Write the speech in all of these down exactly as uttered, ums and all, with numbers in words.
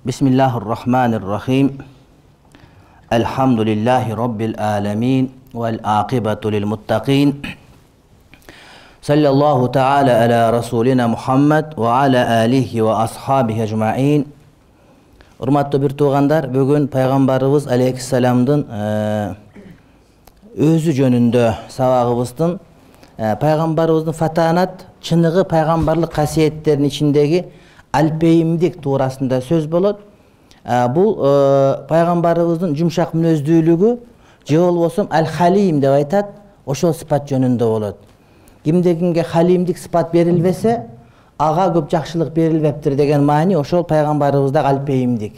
Bismillahirrahmanirrahim. Elhamdülillahi Rabbil alemin. Vel aqibatu lil muttaqin. Sallallahu ta'ala ala Rasulina Muhammed ve ala alihi ve ashabihi ecma'in. Urmatlı bir tuğandar, bugün Peygamberimiz Aleyhisselam'dın özü jönündө sabagыбыздын Peygamberimizin fatanat, çınığı peygamberlik kasiyetlerinin içindeki alpeyimdik tuğrasında söz bolot. Bu Peygamberimizin jumşak münözdүүлүгү je bolbosом al-halim dep aytat, oşol sıfat jönündө bolot. Kimde-kimge halimdik sıfat berilbese, aga көп жакшылык берилбептир деген маани ошол пайгамбарыбызда алпейимдик.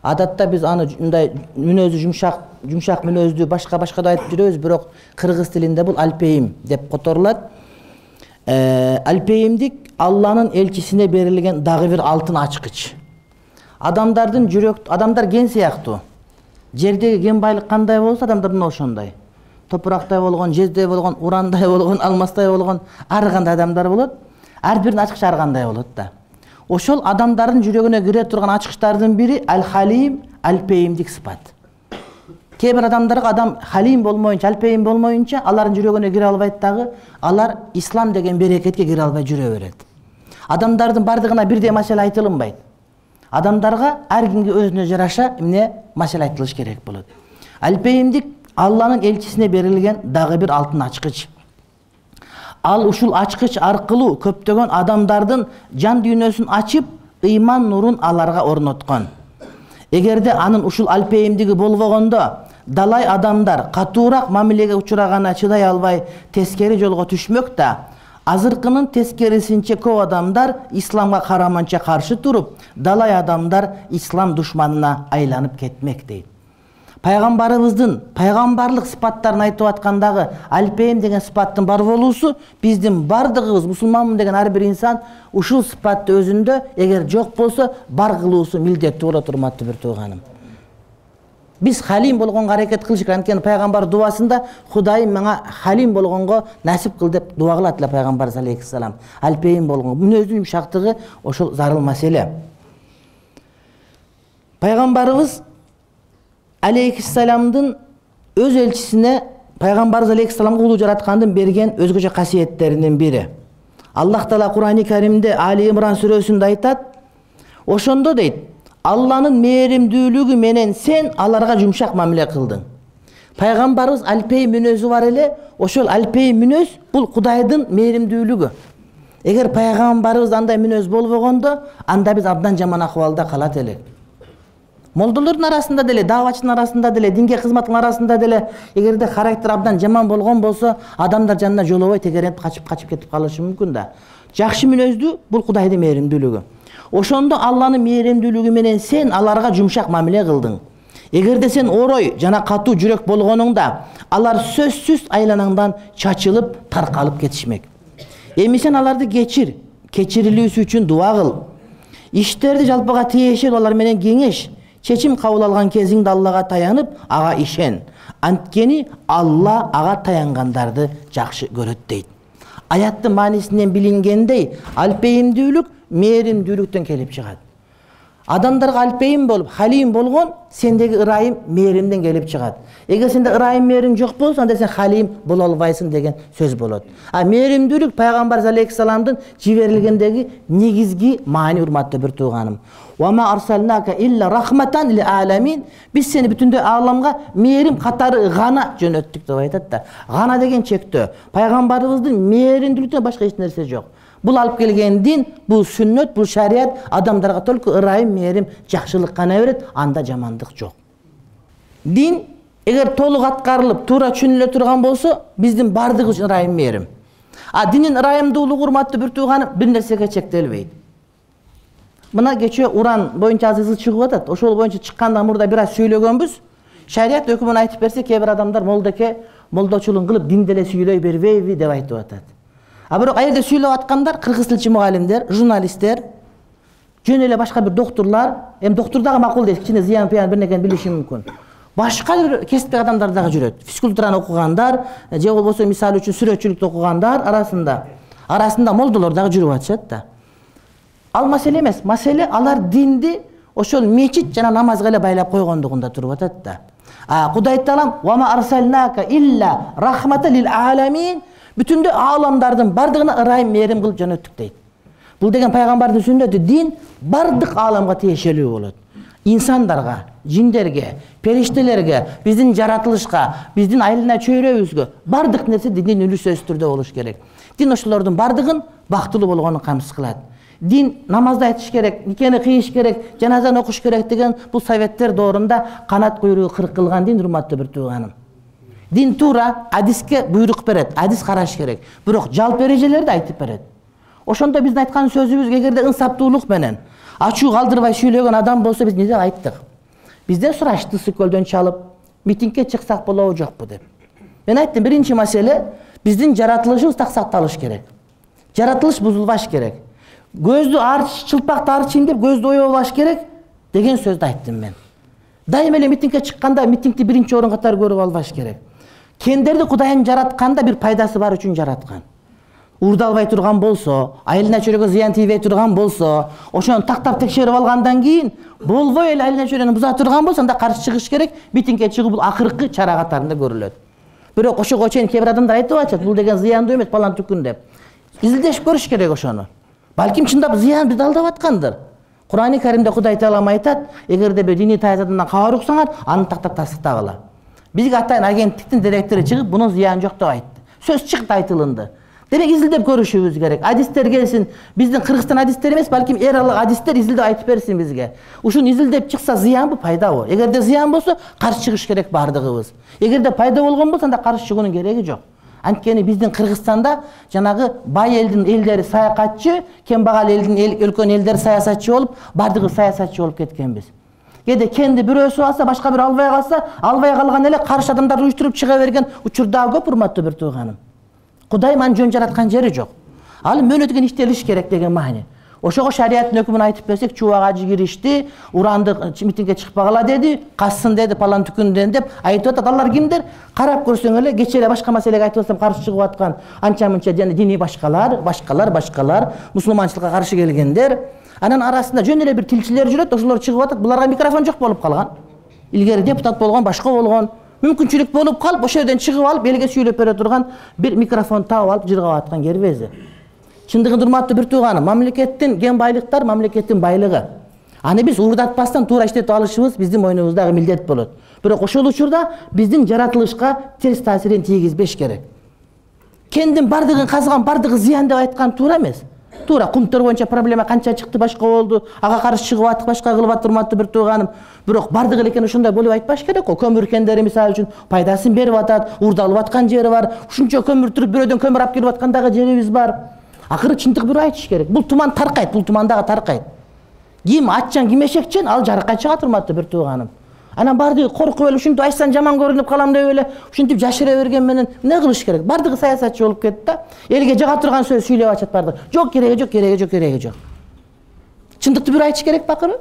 Адатта биз аны мындай мүнөзү жумшак, жумшак мүнөздүү башка-башка да айтып жүрөбүз, бирок кыргыз тилинде бул алпейим деп которулат. Алпейимдик Алланын элчисине берилген дагы бир алтын ачкыч. Адамдардын жүрөк, адамдар ген сыяктуу. Жердеги ген байлык кандай болсо, адамдар мына ошондой. Топурактай болгон, жердей болгон, урандай болгон, алмастай болгон ар кандай адамдар болот. Ар биринин ачкычы ар кандай болот да. Ошол адамдардын жүрөгүнө кире турган ачкычтардын бири ал-халим, алпейимдик сыпат. Кээ бир адамдарга адам халим болмоюнча, алпейим болмоюнча алардын жүрөгүнө кире албайт дагы, алар ислам деген берекетке кире албай жүрө берет. Адамдардын бардыгына бирдей маселе айтылынбайт. Адамдарга ар кимге өзүнө жараша эмне маселе айтылыш керек болот. Алпейимдик Алланын элчисине берилген дагы бир алтын ачкыч. Ал ушул ачкыч аркылуу көптөгөн адамдардын жан дүйнөсүн ачып, ыйман нурун аларга орноткон. Эгерде анын ушул алпейимдиги болбогондо, далай адамдар катуураак мамилеге учурагана чыдай албай тескери жолго түшмөк да, азыркынын тескерисинче көп адамдар исламга караманча каршы туруп, далай адамдар ислам душманына айланып кетмек дейт. Пайгамбарыбыздын пайгамбарлык сыпаттарын айтып аткандагы алпейим деген сыпаттын бар болуусу биздин бардыгыбыз мусулманмын деген ар бир инсан ушул сыпатты өзүндө эгер жок болсо бар кылуусу милдеттүү болот, урматтуу бир тууганым. Биз халим болгонго аракет кылыш керек. Анткени пайгамбар дуасында Кудайым мага халим болгонго насип кыл деп дуа кылат эле пайгамбарыбыз алейхиссалам. Алпейим болгонго мүнөздүн жумшактыгы ошол зарыл маселе. Пайгамбарыбыз Алейхиссаламдын өз элчисине пайгамбарыбыз алейхиссаламга улуу жараткандын берген өзгөчө касиеттеринин бири. Аллах Таала Кур'ан-ы Каримде Али Имран сүрөсүндө айтат, ошондо дейт, Алланын мээримдүүлүгү менен сен аларга жумшак мамиле кылдың. Пайгамбарыбыз алпейим мүнөзү бар эле, ошол алпейим мүнөз бул Кудайдын мээримдүүлүгү. Эгер пайгамбарыбыз андай мүнөз болбогондо, анда биз абдан жаман акыбалда калат элек. Молдолордун арасында деле, давачтын арасында деле, динге кызматтын арасында деле, эгерде характер абдан жаман болгон болсо, адамдар жанына жолобой тегеренип качып-качып кетип калышы мүмкүн да. Жакшы мүнөздүү бул Кудайдын мээримдүүлүгү. Ошондо Алланын мээримдүүлүгү менен сен аларга жумшак мамиле кылдың. Эгерде сен орой жана катуу жүрөк болгонуңда, алар сөзсүз айланаңдан чачылып, таркалып кетишмек. Эми сен аларды кечир, кечирилүүсү үчүн дуа кыл. Иштерди жалпыга тиешет алар менен кеңеш. Чечим кабыл алган кезиңде Аллага таянып, ага ишен. Анткени Алла ага таянгандарды жакшы көрөт дейт. Аяттын маанисинен билингендей, алпейимдүүлүк мээримдүүлүктөн келип чыгат. Адамдарга алпейим болуп, халим болгон сендеги ырайым мээримден келип чыгат. Эгер сенде ырайым мээрим жок болсо, анда сен халим боло албайсың деген сөз болот. А мээримдүүлүк пайгамбар алейхиссаламдын жиберилгендеги негизги маани, урматтуу бир тууганым. Вама арсалнака илля рахматан лил аламин. Биз сени бүтүндөй ааламга мээрим катары гана жөнөттүк деп айтат да. Гана деген чектөө. Пайгамбарыбыздын мээримдүүлүктөн башка эч нерсе жок. Бул алып келген дин, бул сүннөт, бул шарият адамдарга толку ырайым, мээрим, жакшылык гана берет, анда жамандык жок. Дин эгер толук аткарылып, туура түшүнүлө турган болсо, биздин бардыгыбыз ырайым, мээрим. А динин ырайымдуулугу, урматтуу бир тууганым, бир нерсеге чектелбейт. Мына кечээ Уран боюнча азыр чыгып атат. Ошол боюнча чыккандан мурда бир аз сүйлөгөнбүз. Шарият өкүмүн айтып берсе, кээ бир адамдар молдоке, молдочулук кылып дин деле сүйлөй бербейби деп айтып атат. А бирок аерде сүйлөп аткандар кыргыз тилчи мугалимдер, журналисттер, жөн эле башка бир доктурлар, эми доктур дагы макул дейт, кичине зыян пыян бир нерсени билиши мүмкүн. Башка бир кесиптеги адамдар дагы жүрөт. Физкультураны окугандар, же болбосо мисалы үчүн сүрөтчүлүктү окугандар арасында, арасында молдолор дагы жүрүп атышат да. Ал маселе эмес. Маселе алар динди ошол мечит жана намазга эле байлап койгондугунда туруп атат да. А Кудай Таалам ва ма арсалнака илля рахмата лил аламин, бүтүндө ааламдардын бардыгына ырайым мээрим кылып жөнөттүк дейт. Бул деген пайгамбардын сүннөтү, дин бардык ааламга тиешелүү болот. Инсандарга, жиндерге, периштелерге, биздин жаратылышка, биздин айылына чөйрөбүзгө бардык нерсе диндин үлүсөз түрдө болуш керек. Дин ошолордун бардыгын бактылуу болгонун камсыз кылат. Дин намазды айтыш керек, никени кыйыш керек, жаназаны окуш керек деген бул советтер доорунда канат куйругу кырк кылган дин, урматтуу бир тууганым. Дин туура адиске буйрук берет, адис караш керек. Бирок жалпы эрежелерди айтып берет. Ошондо биздин айткан сөзүбүз эгерде ынсаптуулук менен ачуу калтырбай сүйлөгөн адам болсо биз эмне деп айттык? Бизден сурашты ысык көлдөн чалып, митингге чыксак болобу жокпу деп. Мен айттым, биринчи маселе биздин жаратылышыбыз так сакталыш керек. Жаратылыш бузулбаш керек. Көздү арч, чылпакты арчыйм деп көздү оёбаш керек деген сөздү айттым мен. Дайым эле митингге чыкканда митингди биринчи орун катары көрүп албаш керек. Кендерди Кудайым жаратканда бир пайдасы бар үчүн жараткан. Урдалбай турган болсо, айылына чөйрөгө зыян тийбей турган болсо, ошону тактап текшерип алгандан кийин болбой эле айылына чөйрөнү буза турган болсо, анда каршы чыгыш керек. Митингге чыгуу бул акыркы чара катарында көрүлөт. Бирок ошого чейин кээ бир адамдар айтып атышат, бул деген зыяндуу эмес, балан түкүн деп. Изилдешип көрүш керек ошону. Балким чындап зыян бизди алдап аткандыр. Кур'ани Каримде Кудай Таалам айтат, эгерде бир диний таязадан кабар уксаңар, аны тактап тастыктагыла. Бизге атайын агенттиктин директору чыгып, бунун зыяны жок деп айтты. Сөз чыкты, айтылынды. Демек изилдеп көрүшүбүз керек. Адистер келсин, биздин Кыргызстан адистери эмес, балким эр алык адистер изилдеп айтып берсин бизге. Ушуну изилдеп чыкса зыянбы, пайдабы? Эгерде зыян болсо, каршы чыгыш керек бардыгыбыз. Эгерде пайда болгон болсо, анда каршы чыгуунун кереги жок. Анткени биздин Кыргызстанда жанагы бай элдин элдери саякатчы, кембагал элдин өлкөнүн элдери саясатчы болуп, бардыгы саясатчы болуп кеткенбиз. Кээде кенди бирөөсү алса, башка бирөө албай калса, албай калган эле каршы адамдарды уюштуруп чыга берген учур дагы көп, урматтуу бир тууганым. Кудайым аны жөн жараткан жери жок. Ал мөөнөтүгөн иштелиш керек деген маани. Ошого шариаттын өкүмүн айтып берсек, чубак ажы киришти, уранды митингге чыкпагыла деди, кассын деди, палан түкүндөн деп айтып атат. Алар кимдер? Карап көрсөң эле, кечээ эле башка маселеге айтып атсам каршы чыгып аткан анча-мынча жана диний башкалар, башкалар, башкалар, мусулманчылыкка каршы келгендер. Анын арасында жөн эле бир тилчилер жүрөт, ошолор чыгып атат. Буларга микрофон жок болуп калган. Илгери депутат болгон, башка болгон. Мүмкүнчүлүк болуп калып, ошол жерден чыгып алып, элге сүйлөп бере турган бир микрофон таап алып жыргап аткан кербези. Чындыгында урматтуу бир тууганым, мамлекеттин кен байлыктар мамлекеттин байлыгы. Аны биз уурдатпастан туура иштетип алышыбыз биздин мойнубуздагы милдет болот. Бирок ошол учурда биздин жаратылышка терс таасирин тийгизбеш керек. Кендин бардыгын казган, бардыгы зыян деп айткан туура эмес. Туура кумтор боюнча проблема канча чыкты, башка болду, ага каршы чыгып аттык, башка кылып аттыр, урматтуу бир тууганым. Бирок бардыгы экен ошондой болуп айтпаш керек го. Көмүр кендери мисалы үчүн пайдасын берип атат, уурдалып аткан жери бар. Ушунча көмүр түрүп бирөөдөн көмүр алып келип аткандагы жерибиз бар. Акыры чындык бирөө айтыш керек. Бул туман таркайт, бул тумандагы таркайт. Ким аччан, ким эшекчен, ал жарыкка чыгат, урматтуу бир тууганым. Анан бардыгы коркуп эле ушинтип айтсам жаман көрүнүп калам деп эле ушинтип жашыра берген менен эмне кылыш керек? Бардыгы саясатчы болуп кетти да. Элге жага турган сөз сүйлөп атышат бардыгы. Жок, кереги жок, кереги жок, кереги жок. Чындыкты бир айтыш керек бакыры.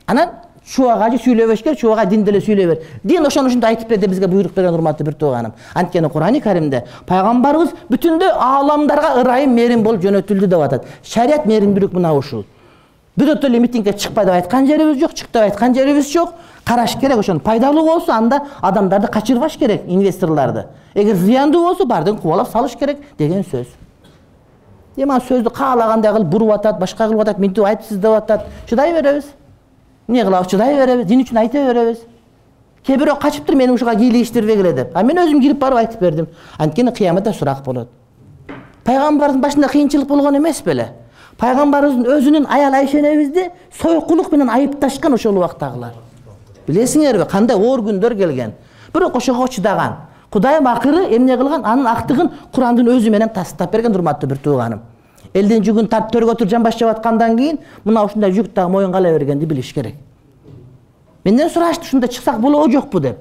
Анан чубак ажы сүйлөбөш керек, чубак дин деле сүйлөй бер. Дин ошону ушундай айтып бер деп бизге буйрук берген, урматтуу бир тууганым. Анткени Кур'ани Каримде пайгамбарыбыз бүтүндө ааламдарга ырайым мээрим болуп жөнөтүлдү деп атат. Шарият мээримдүүлүк мына ушул. Бирөөтө эле митингге чыкпа деп айткан жерибиз жок, чык деп айткан жерибиз жок. Караш керек, ошону пайдалуу болсо анда адамдарды качырбаш керек, инвесторлорду. Эгер зыяндуу болсо бардыгын кубалап салыш керек деген сөз. Эми ал сөздү каалагандай кылып буруп атат, башка кылып атат, мынтип айтыпсыз деп атат. Чыдай беребиз. Эмне кылабыз? Чыдай беребиз. Дин үчүн айта беребиз. Кээ бирөө качыптыр, мени ушуга кийлигиштирбегиле деп. А мен өзүм кирип барып айтып бердим. Анткени кыяматта сурак болот. Пайгамбардын башында кыйынчылык болгон эмес беле? Пайгамбарыбыздын өзүнүн аял Айшенебизди сойкулук менен айыпташкан ошол убактагылар. Билесиңерби, кандай оор күндөр келген. Бирок ошого чыдаган. Кудайым акыры эмне кылган? Анын актыгын Курандын өзү менен тастап берген, урматтуу бир тууганым. Элдин жүгүн тартып төргө тур жамбаш жеп аткандан кийин мына ушундай жүк дагы моюнга ала бергенди билиш керек. Менден сурашты, ушунда чыксак болобу жокпу деп.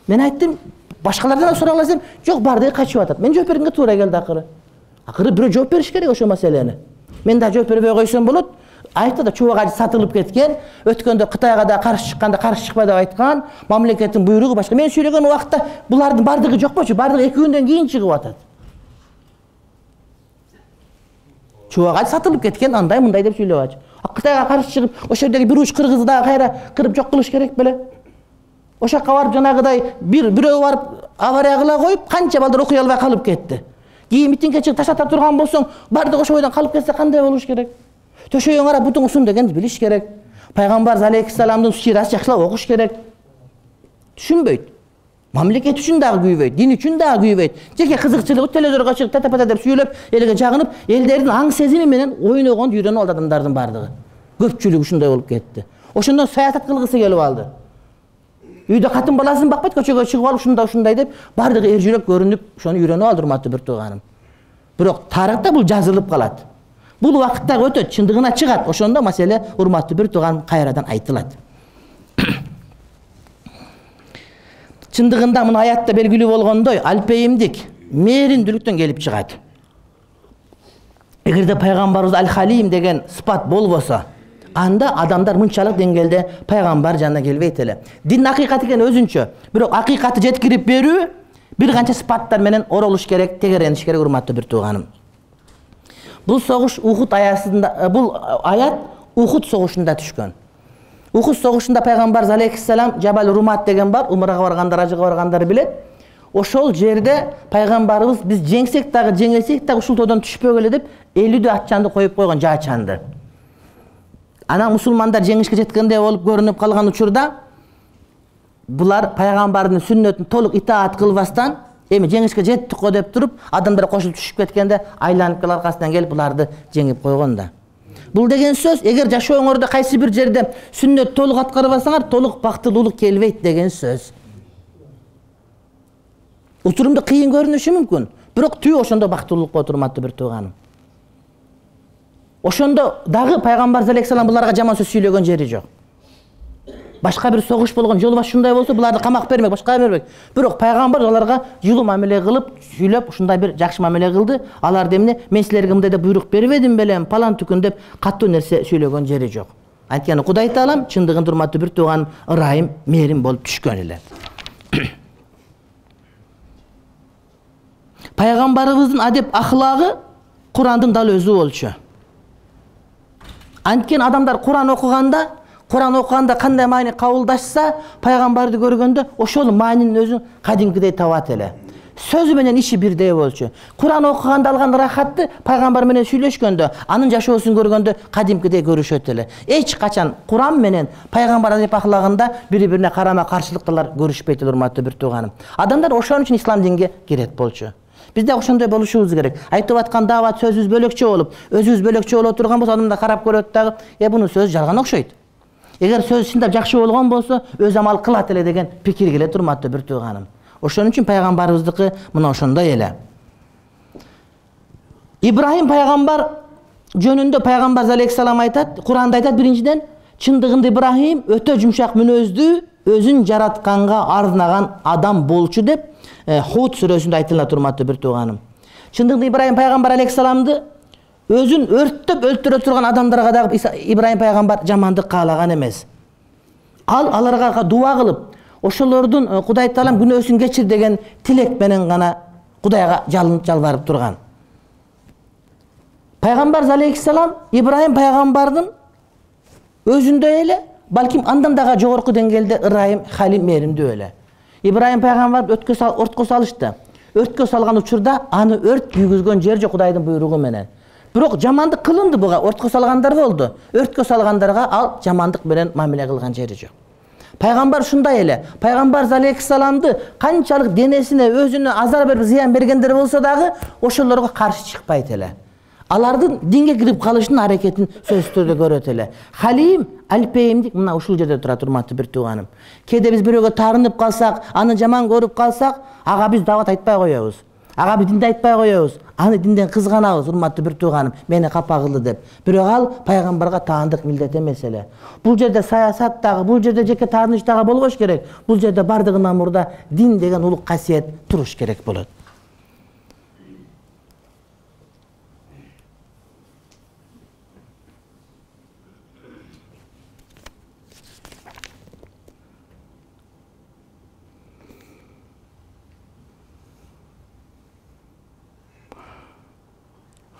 Мен айттым, башкалардан сурагыла десем, жок, бардыгы качып атат. Мен жооп бергенге туура келди акыры. Акыры бирөө жооп бериш керек ошол маселени. Мен да жооп бербей койсом болот. Айтты да чубак ажы сатылып кеткен, өткөндө Кытайга да каршы чыкканда каршы чыкпа деп айткан, мамлекеттин буйругу башка. Мен сүйлөгөн убакта булардын бардыгы жокпочу, бардыгы эки күндөн кийин чыгып атат. Чубак ажы сатылып кеткен, андай мындай деп сүйлөп атчы. Кытайга каршы чыгып, ошол жердеги бир уч кыргызды дагы кайра кырып жок кылыш керек беле? Ошол жакка барып жанагыдай бир бирөө барып авария кыла коюп, канча балдар окуй албай калып кетти. Кийин митингге чыгып таштата турган болсоң, бардыгы ошол бойдон калып кетсе кандай болуш керек? Төшөйүң карап бутуң усун дегенди билиш керек. Пайгамбар алейхиссаламдын сирасын жакшылап окуш керек. Түшүнбөйт. Мамлекет үчүн дагы күйбөйт, дин үчүн дагы күйбөйт. Жеке кызыкчылыгы телевизорго чыгып тата-пата деп сүйлөп, элге жагынып, элдердин аң сезими менен ойногонду үйрөнүп алды адамдардын бардыгы. Көпчүлүгү ушундай болуп кетти. Ошондон саясат кылгысы келип алды. Үйдө катын баласын бакпайт, көчөгө чыгып алып ушундай ушундай деп бардыгы эр жүрөк көрүнүп, ошону үйрөнүп алды, урматтуу бир тууганым. Бирок тарыхта бул жазылып калат. Бул убакытта өтөт, чындыгына чыгат. Ошондо маселе, урматтуу бир тууганым, кайрадан айтылат. Чындыгында мына аятта белгилүү болгондой, алпейимдик, мээримдүүлүктөн келип чыгат. Эгерде пайгамбарыбыз Аль-Халим деген сыпат болбосо, анда адамдар мынчалык деңгээлде пайгамбар жанына келбейт эле. Дин акыйкат экен өзүнчө, бирок акыйкатты жеткирип берүү бир канча сыпаттар менен оролуш керек, тегерениш керек, урматтуу бир тууганым. Бул согуш Ухуд аясында, бул аят Ухуд согушунда түшкөн. Ухуд согушунда пайгамбар алейхиссалам Жабал Румат деген бар, умрага баргандар, ажыга баргандар билет. Ошол жерде пайгамбарыбыз биз жеңсек дагы, жеңилсек дагы ушул тоодон түшпөгөлө деп элүү атчанды коюп койгон, жаачанды. Анан мусулмандар жеңишке жеткендей болуп көрүнүп калган учурда булар пайгамбардын сүннөтүн толук итаат кылбастан, эми жеңишке жеттик го деп туруп, адамдар кошулуп түшүп кеткенде айланып келип аркасынан келип буларды жеңип койгон да. Бул деген сөз, эгер жашооңордо кайсы бир жерде сүннөт толук аткарбасаңар, толук бактылуулук келбейт деген сөз. Учурумда кыйын көрүнүшү мүмкүн, бирок түбү ошондо бактылуулук болот, урматтуу бир тууганым. Ошондо дагы пайгамбар алейхиссалам буларга жаман сөз сүйлөгөн жери жок. Башка бир согуш болгон, жол баш ушундай болсо, буларды камак бермек, башка бермек. Бирок пайгамбар аларга жылуу мамиле кылып, сүйлөп, ушундай бир жакшы мамиле кылды. Алар демне, мен силерге мындай деп буйрук бербедим белем, палан түкүн деп каттуу нерсе сүйлөгөн жери жок. Анткени Кудай Таалам чындыгында, урматтуу бир тууган, ырайым, мээрим болуп түшкөн эле. Пайгамбарыбыздын адеп ахлагы Курандын дал өзү болчу. Анткени адамдар Куран окуганда, Куран окуганда кандай маани кабылдашса, пайгамбарды көргөндө ошол маанинин өзүн кадимкидей табат эле. Сөзү менен иши бирдей болчу. Куран окуганда алган рахатты пайгамбар менен сүйлөшкөндө, анын жашоосун көргөндө кадимкидей көрүшөт эле. Эч качан Куран менен пайгамбар адеп ахлагында бири-бирине карама каршылыктар көрүшпөйт, урматтуу бир тууганым. Адамдар ошон үчүн ислам динге кирет болчу. Бизде ошондой болушубуз керек. Айтып аткан даават сөзүбүз бөлөкчө болуп, өзүбүз бөлөкчө боло турган болсо, адамдар карап көрөт дагы, "Э, бунун сөзү жалган окшойт." Эгер сөз чындап жакшы болгон болсо, өз амал кылат эле деген пикир келет, урматтуу бир тууганым. Ошон үчүн пайгамбарыбыздыкы мына ошондой эле. Ибрахим пайгамбар жөнүндө пайгамбар алейхиссалам айтат, Куранда айтат биринчиден, чындыгында Ибрахим өтө жумшак мүнөздүү, өзүн жаратканга арнаган адам болчу деп Худ сүрөсүндө айтылат, урматтуу бир тууганым. Чындыгында Ибрахим пайгамбар алейхиссаламды өзүн өрттөп өлтүрө турган адамдарга дагы Ибрахим пайгамбар жамандык каалаган эмес. Ал аларга дуа кылып, ошолордун Кудай Таалам күнөөсүн кечир деген тилек менен гана Кудайга жалынып жалбарып турган. Пайгамбар алейхиссалам Ибрахим пайгамбардын өзүндөй эле, балким андан дагы жогорку деңгээлде ырайым, халим, мээримдүү эле. Ибрахим пайгамбар өткө сал, өрткө салышты. Өрткө салган учурда аны өрт күйгүзгөн жер жок, Кудайдын буйругу менен. Бирок жамандык кылынды буга, өрткө салгандар болду. Өрткө салгандарга ал жамандык менен мамиле кылган жери жок. Пайгамбар ушундай эле. Пайгамбар алейхиссаламды канчалык денесине, өзүнө азар берип зыян бергендер болсо дагы ошолорго каршы чыкпайт эле. Алардын динге кирип калышынын аракетин сөзсүз түрдө көрөт эле. Халим, алпейимдик мына ушул жерде турат, урматтуу бир тууганым. Кээде биз бирөөгө таарынып калсак, аны жаман көрүп калсак, ага биз даават айтпай коебуз. Ага биз динди айтпай коебуз. Аны динден кызганабыз, урматтуу бир тууганым, мени капа кылды деп. Бирок ал пайгамбарга таандык милдет эмес эле. Бул жерде саясат дагы, бул жерде жеке тааныш дагы болбош керек. Бул жерде бардыгынан мурда дин деген улук касиет туруш керек болот.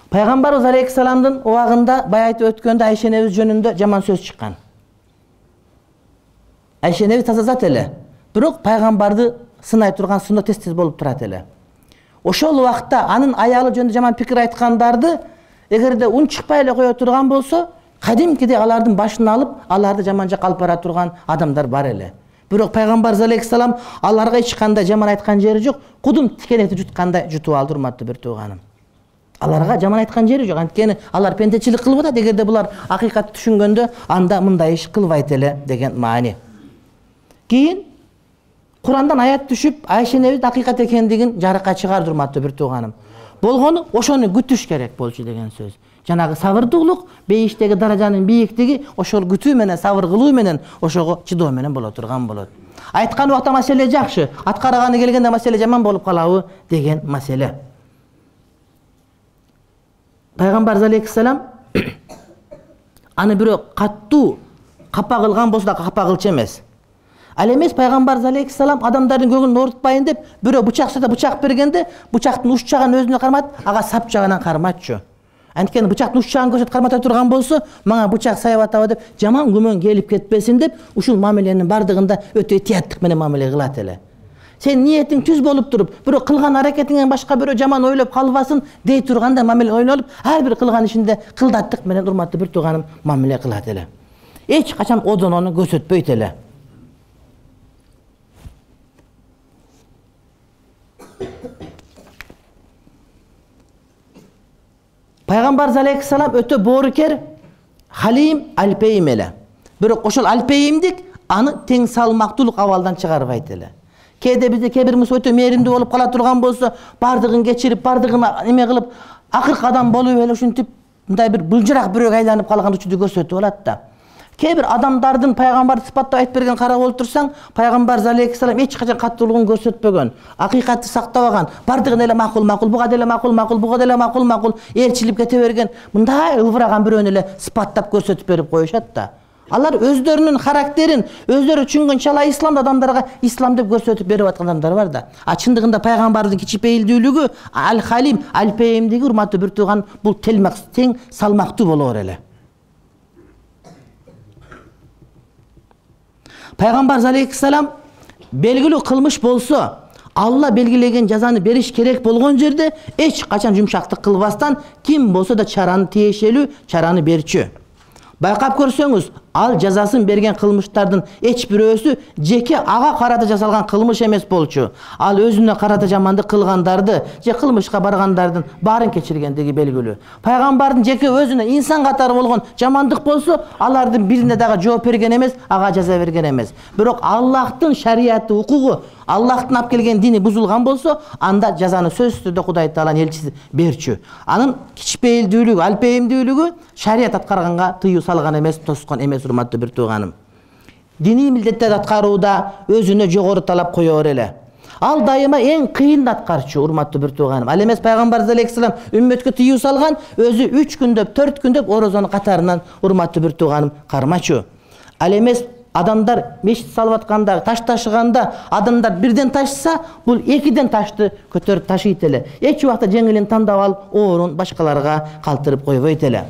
Пайгамбарыбыз алейхиссаламдын убагында баягы айтып өткөндө Айша энебиз жөнүндө жаман сөз чыккан. Айша энебиз таза зат эле, бирок пайгамбарды сынай турган сыноо тез-тез болуп турат эле. Ошол убакта анын аялы жөнүндө жаман пикир айткандарды эгерде унчукпай эле кое турган болсо, кадимкидей алардын башын алып, аларды жаман жакка алып бара турган адамдар бар эле. Бирок пайгамбарыбыз алейхиссалам аларга эч кандай жаман айткан жери жок, кудум тикенекти жуткандай жутуп алды, урматтуу бир тууганым. Аларга жаман айткан жери жок, анткени алар пендечилик кылып атат, эгерде булар акыйкатты түшүнгөндө, анда мындай иш кылбайт эле деген маани. Кийин Курандан аят түшүп, Айша энебиз акыйкат экендигин жарыкка чыгарды, урматтуу бир тууганым. Болгону ошону күтүш керек болчу деген сөз. Жанагы сабырдуулук, бейиштеги даражанын бийиктиги ошол күтүү менен, сабыр кылуу менен, ошого чыдоо менен боло турган болот. Айткан убакта маселе жакшы, аткарганы келгенде маселе жаман болуп калабы деген маселе. Пайгамбарыбыз алейхиссалам аны бирок каттуу капа кылган болсо да капа кылчу эмес. Ал эмес пайгамбарыбыз алейхиссалам адамдардын көңүлүн оорутпайын деп, бирөө бычак сата бычак бергенде, бычактын уч жагын өзүнө кармат, ага сап жагынан карматчу. Анткени бычактын уч жагын көрсөтүп кармата турган болсо, мага бычак саяп атабы деп, жаман күмөн келип кетпесин деп, ушул мамиленин бардыгында өтө этияттык менен мамиле кылат эле. Сен ниетиң түз болуп туруп, бирөө кылган аракетиңен башка бирөө жаман ойлоп калбасын дей турганда мамиле ойлонуп, ар бир кылган ишинде кылдаттык менен, урматтуу бир тууганым, мамиле кылат эле. Эч качан одонону көрсөтпөйт эле. Пайгамбарыбыз алейхиссалам өтө боорукер, халим, алпейим эле. Бирок ошол алпейимдик аны тең салмактуулук абалдан чыгарбайт эле. Кээде бизде кээ бир мусу өтө мээримдүү болуп кала турган болсо, бардыгын кечирип, бардыгын эме кылып, акыркы адам болуп эле ушинтип мындай бир булжырак бирөөгө айланып калган учурду көрсөтүп алат да. Кээ бир адамдардын пайгамбарды сыпаттап айтып берген карап олтурсаң, пайгамбарыбыз алейхиссалам эч качан каттуулугун көрсөтпөгөн, акыйкатты сактабаган, бардыгын эле макул макул, буга деле макул макул, буга деле макул макул ээрчилип кете берген, мындай ылбыраган бирөөнү эле сыпаттап көрсөтүп берип коюшат да. Алар өздөрүнүн характерин, өздөрү түшүнгөн чала исламды адамдарга ислам деп көрсөтүп берип аткан адамдар бар да. А чындыгында пайгамбардын кичипейилдүүлүгү, ал-халим, алпейимдиги, урматтуу бир тууган, бул тең салмактуу болоор эле. Пайгамбарыбыз алейхиссалам белгилүү кылмыш болсо, Алла белгилеген жазаны бериш керек болгон жерде эч качан жумшактык кылбастан, ким болсо да чараны тиешелүү, чараны берчү. Байкап көрсөңүз, ал жазасын берген кылмыштардын эч бирөөсү жеке ага карата жасалган кылмыш эмес болчу. Ал өзүнө карата жамандык кылгандарды, же кылмышка баргандардын баарын кечиргендиги белгилүү. Пайгамбардын жеке өзүнө инсан катары болгон жамандык болсо, алардын бирине дагы жооп берген эмес, ага жаза берген эмес. Бирок Аллахтын шариаты, укугу, Аллахтын алып келген дини бузулган болсо, анда жазаны сөзсүз түрдө Кудай Тааланын элчиси берчү. Анын кичпейилдүүлүгү, алпейимдүүлүгү шарият аткарганга тыюу салган эмес, тоскон эмес, урматтуу бир тууганым. Диний милдеттерди аткарууда өзүнө жогору талап коёр эле. Ал дайыма эң кыйын аткарчу, урматтуу бир тууганым. Ал эмес пайгамбарыбыз алейхиссалам үммөткө тыюу салган, өзү үч күндөп, төрт күндөп орозону катарынан, урматтуу бир тууганым, кармачу. Ал эмес адамдар мешит салып атканда, таш ташыганда, адамдар бирден ташса, бул экиден ташты көтөрүп ташыйт эле. Эч убакта жеңилин тандап алып, оорун башкаларга калтырып койбойт эле.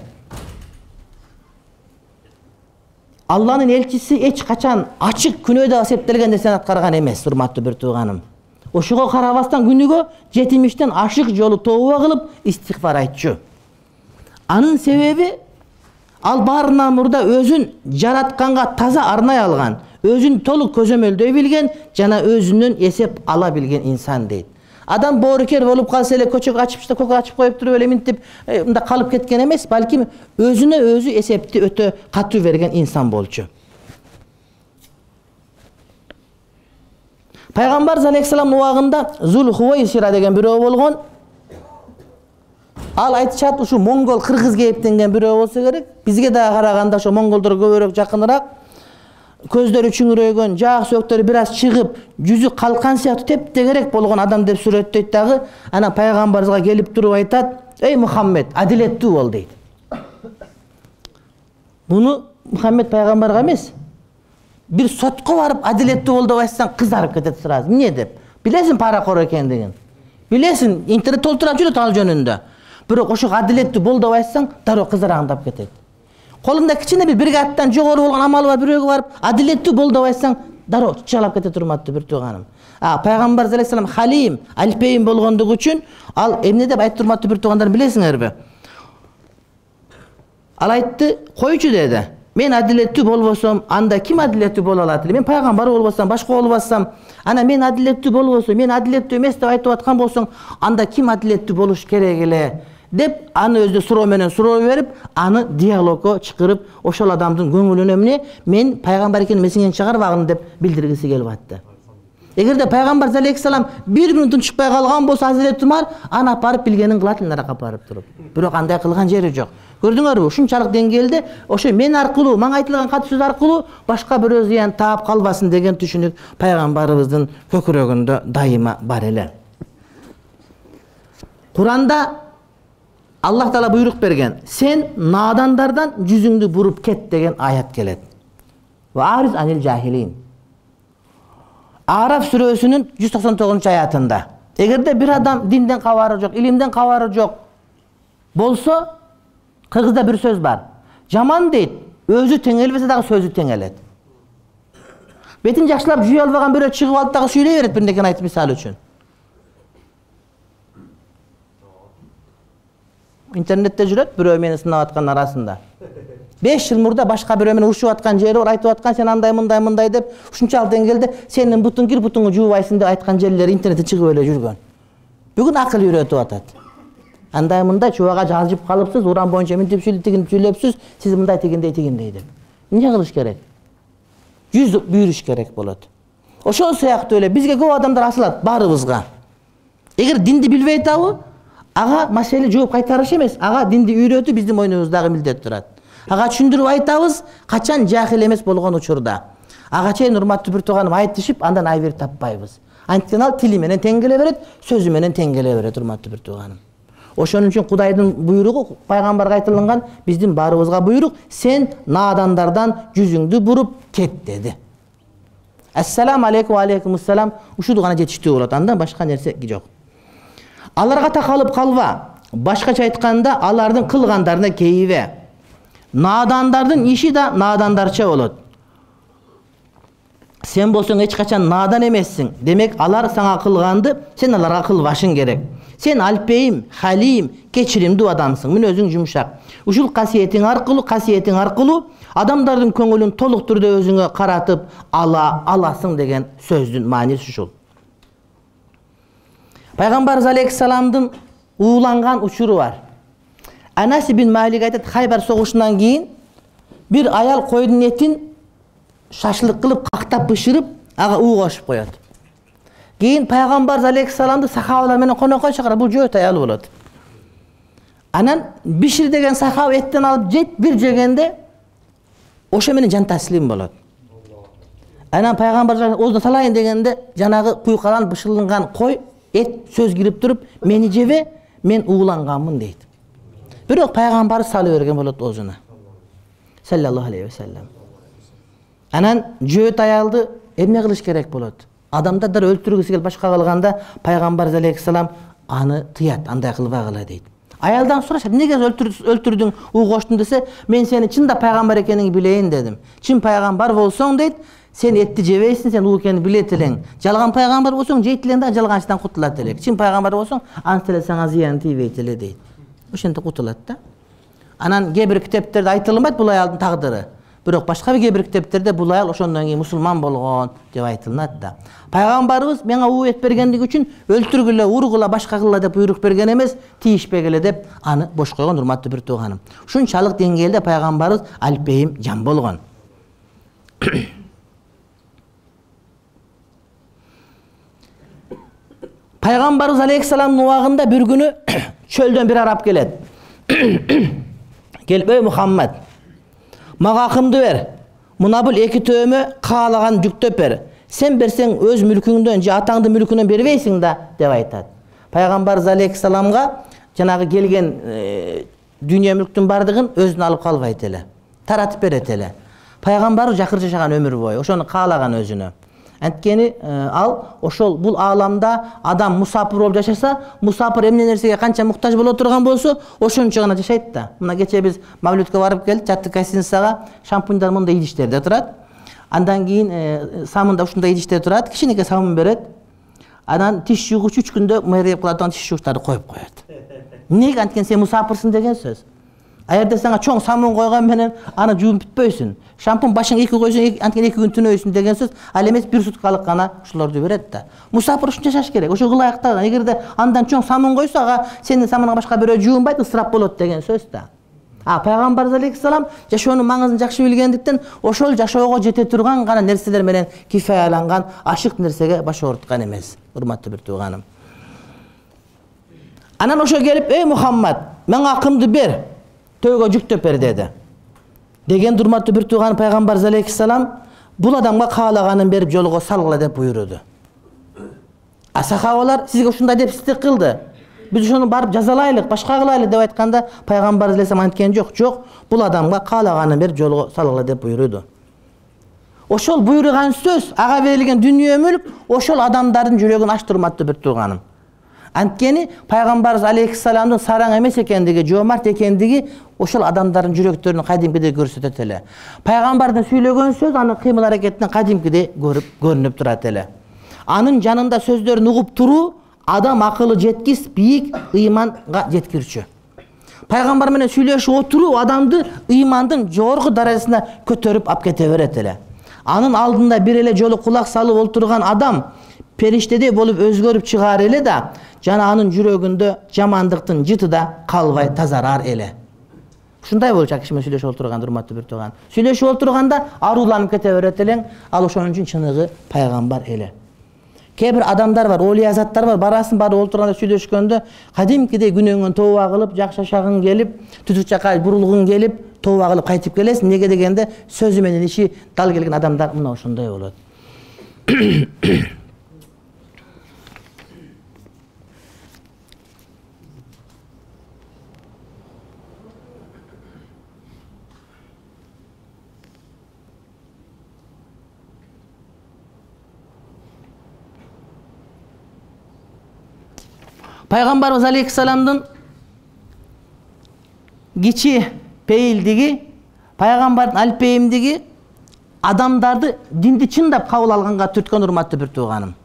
Алланын элчиси эч качан ачык күнөөдө эсептелген нерсени аткарган эмес, урматтуу бир тууганым. Ошого карабастан күнүгө жетимиштен ашык жолу тооба кылып истигфар айтчу. Анын себеби ал баарынан мурда өзүн жаратканга таза арнай алган, өзүн толук көзөмөлдөй билген жана өзүнөн эсеп ала билген инсан дейт. Адам боорукер болуп калса эле, көчөгө ачып, көкө ачып коюп туруп эле минтип мында калып кеткен эмес, балким өзүнө өзү эсепти өтө катуу берген инсан болчу. Пайгамбарыбыз алейхиссаламдын убагында Зул-Хувайсира деген бирөө болгон. Ал айтышат, ушу монгол, кыргыз кээптенген бирөө болсо керек. Бизге да караганда ошо монголдор көбүрөөк жакыныраак. Көздөрү чүңүрөйгөн, жаак сөөктөрү бир аз чыгып, жүзү калкан сыяктуу тептегерек болгон адам деп сүрөттөйт дагы. Анан пайгамбарыбызга келип туруп айтат: "Эй Мухаммед, адилеттүү бол" дейт. Буну Мухаммед пайгамбарга эмес, бир сотко барып адилеттүү бол деп айтсаң, кызарып кетет сразу. Эмне деп? Билесиң паракор экендигин. Билесиң, интернет толтурап жүрөт ал жөнүндө. Бирок ошо адилеттүү бол деп айтсаң, дароо кызараңдап кетет. Колунда кичине бир бир каттан жогору болгон амалы бар бирөөгө барып, адилеттүү бол деп айтсаң, дароо чыгалап кетет урматтуу бир тууганым. А пайгамбар алейхиссалам халим, алпейим болгондугу үчүн ал эмне деп айтты урматтуу бир туугандар билесиңерби? Ал айтты, койчу деди. Мен адилеттүү болбосом, анда ким адилеттүү боло алат эле? Мен пайгамбар болбосам, башка болбасам, ана мен адилеттүү болбосом, мен адилеттүү эмес деп айтып аткан болсоң, анда ким адилеттүү болуш керек эле? Деп аны өзү суроо менен суроо берип, аны диалогго чакырып, ошол адамдын көңүлүнө эмне, мен пайгамбар экенин месиңен чыгарбагын деп билдиргиси келип атты. Эгерде пайгамбар алейхиссалам бир мүнөттүн чыкпай калган болсо Азирет Умар аны апарып билгенин кылат эле наракка апарып туруп. Бирок андай кылган жери жок. Көрдүңөрбү? Ушунчалык деңгээлде ошо мен аркылуу, мага айтылган кат сөз аркылуу башка бирөө зыян таап калбасын деген түшүнүк пайгамбарыбыздын көкүрөгүндө дайыма бар эле. Куранда Аллах Таала буйрук берген. Сен надандардан жүзүңдү буруп кет деген аят келет. Ва ариз анил жахилин. Араф сүрөсүнүн жүз токсон тогузунчу аятында. Эгерде бир адам динден кабары жок, илимден кабары жок болсо, кыргызда бир сөз бар. Жаман дейт, өзү теңелбесе дагы сөзү теңелет. Бетин жакшылап жүйө албаган бирөө чыгып алып дагы сүйлөй берет бир нерсени айтып мисалы үчүн. Интернетте жүрөт бирөө мени сынап аткан арасында. беш жыл мурда башка бирөө менен урушуп аткан жери бар, айтып аткан сен андай мындай мындай деп, ушунчалык деңгээлде сенин бутуң кир, бутуңду жуубайсың деп айткан жерлер интернетте чыгып эле жүргөн. Бүгүн акыл үйрөтүп атат. Андай мындай чубага жазып калыпсыз, уран боюнча мынтип сүйлөп сүйлөпсүз, сиз мындай тигиндей тигиндей деп. Эмне кылыш керек? Жүз буйруш керек болот. Ошол сыяктуу эле бизге көп адамдар асылат баарыбызга. Эгер динди билбей атабы, ага маселе жооп кайтарыш эмес, ага динди үйрөтүү биздин мойнубуздагы милдет турат. Ага түшүндүрүп айтабыз, качан жахил эмес болгон учурда. Ага чейин урматтуу бир тууганым айтышып, андан айбир таппайбыз. Анткени ал тили менен тең келе берет, сөзү менен тең келе берет урматтуу бир тууганым. Ошон үчүн Кудайдын буйругу пайгамбарга айтылган, биздин баарыбызга буйрук, сен надандардан жүзүңдү буруп кет деди. Ассаламу алейкум ва алейкумуссалам ушул гана жетиштүү болот, андан башка нерсе жок. Аларга такалып калба. Башкача айтканда, алардын кылгандарына кейибе. Надандардын иши да надандарча болот. Сен болсоң эч качан надан эмессиң. Демек, алар сага кылганды сен аларга кылбашың керек. Сен алпейим, халим, кечиримдүү адамсың. Мүнөзүң жумшак. Ушул касиетиң аркылуу, касиетиң аркылуу адамдардын көңүлүн толук түрдө өзүңө каратып ала аласың деген сөздүн мааниси ушул. Пайгамбар алейхиссаламдын ууланган учуру бар. Анас ибн Малик айтат, Хайбар согушунан кийин бир аял койдун этин шашлык кылып, кактап бышырып, ага уу кошуп коет. Кийин пайгамбар алейхиссаламды сахабалар менен конокко чакырат, бул жөөт аял болот. Анан бишир деген сахаба эттен алып жейт, бир жегенде ошо менен жан таслим болот. Анан пайгамбар оозуна салайын дегенде жанагы куйкалан бышырылган кой эт сөз кирип туруп, мени жебе, мен ууланганмын дейт. Бирок пайгамбар салып берген болот оозуна. Саллаллаху алейхи ва саллям. Анан жөөт аялды эмне кылыш керек болот? Адамдар өлтүргүсү келип башка кылганда пайгамбар алейхиссалам аны тыят, андай кылбагыла дейт. Аялдан сурашат, эмнеге өлтүрдүң, уу коштуң десе, мен сени чында пайгамбар экениңди билейин дедим. Чын пайгамбар болсоң дейт, сен этти жебейсиң, сен уу экенин билет элең. Жалган пайгамбар болсоң, жейт элең да жалганчыдан кутулат элек. Чын пайгамбар болсоң, анча эле сага зыян тийбейт эле дейт. Ошентип кутулат да. Анан кээ бир китептерде айтылбайт бул аялдын тагдыры. Бирок башка кээ бир китептерде бул аял ошондон кийин мусулман болгон деп айтылат да. Пайгамбарыбыз мага уу эт бергендиги үчүн өлтүргүлө, ургула, башка кылла деп буйрук берген эмес, тийишпегиле деп аны бош койгон урматтуу бир тууганым. Ушунчалык деңгээлде пайгамбарыбыз алпейим жан болгон. Пайгамбарыбыз алейхиссаламдын убагында бир күнү чөлдөн бир араб келет. Келип, "Эй Мухаммад, мага акымды бер. Мына бул эки төөмө каалаган жүктөп бер. Сен берсең өз мүлкүңдөн же атаңдын мүлкүнөн бербейсиң да" деп айтат. Пайгамбарыбыз алейхиссаламга жанагы келген дүйнө мүлктүн бардыгын өзүнө алып калбайт эле. Таратып берет эле. Пайгамбарыбыз жакыр жашаган өмүр бою, ошону каалаган өзүнө. Анткени ал ошол бул ааламда адам мусапыр болуп жашаса, мусапыр эмне нерсеге канча муктаж боло турган болсо, ошончо гана жашайт да. Мына кече биз Мавлютка барып келдик, жаттык гостиницага, шампуньдар мындай идиштерде турат. Андан кийин самында ушундай идиштер турат, кичинекей самын берет. Анан тиш жуугуч үч күндө мэрия кылат, тиш жуугучтарды коюп коет. Эмнеге? Анткени сен мусапырсың деген сөз. Аерде сага чоң самын койгон менен аны жууп бүтпөйсүн. Шампунь башыңа эки койсоң, анткени эки күн түнөйсүн деген сөз. Ал эмес бир суткалык гана ушуларды берет да. Мусапыр ушунча жашаш керек. Ошо ылайыктаган. Эгерде андан чоң самын койсо, ага сенин самыныңа башка бирөө жуунбайт, ысырап болот деген сөз да. А пайгамбарыбыз алейхиссалам жашоонун маңызын жакшы билгендиктен ошол жашоого жете турган гана нерселер менен кифаяланган, ашык нерсеге баш ооруткан эмес. Урматтуу бир тууганым. Анан ошо келип, "Эй Мухаммад, мага акымды бер, төөгө жүктөп бер" деди. Деген урматтуу бир тууган пайгамбарыбыз алейхиссалам бул адамга каалаганын берип жолго салгыла деп буйруду. А сахабалар сизге ушундай деп истик кылды. Биз ошону барып жазалайлык, башка кылайлык деп айтканда, пайгамбарыбыз алейхиссалам айткен жок, жок, бул адамга каалаганын берип жолго салгыла деп буйруду. Ошол буйруган сөз, ага берилген дүнүйө мүлк ошол адамдардын жүрөгүн ачты, урматтуу бир тууганым. Анткени пайгамбарыбыз алейхиссаламдын сараң эмес экендиги, жоомарт экендиги ошол адамдардын жүрөктөрүн кадимкидей көрсөтөт эле. Пайгамбардын сүйлөгөн сөз анын кыймыл аракетинен кадимкидей көрүп көрүнүп турат эле. Анын жанында сөздөрүн угуп туруу адам акылы жеткис, бийик ыйманга жеткирчү. Пайгамбар менен сүйлөшүп отуруу адамды ыймандын жогорку даражасына көтөрүп алып кете берет эле. Анын алдында бир эле жолу кулак салып отурган адам периштедей болуп өзгөрүп чыгаар эле да, жана анын жүрөгүндө жамандыктын жыты да калбай тазарар эле. Ушундай болчу киши менен сүйлөшүп отурганда, урматтуу бир тууган. Сүйлөшүп отурганда аруланып кете берет элең, ал ошон үчүн чыныгы пайгамбар эле. Кээ бир адамдар бар, олий азаттар бар, барасын барып отурганда сүйлөшкөндө кадимкидей күнөөңөн тооба кылып, жакшы жашагың келип, түтүк жакка бурулгуң келип, тооба кылып кайтып келесиң. Неге дегенде сөзү менен иши дал келген адамдар мына ошондой болот. Пайгамбарыбыз алейхиссаламдын кичи пейилдиги, пайгамбардын алпейимдиги адамдарды динди чындап кабыл алганга түрткөн, урматтуу бир тууганым.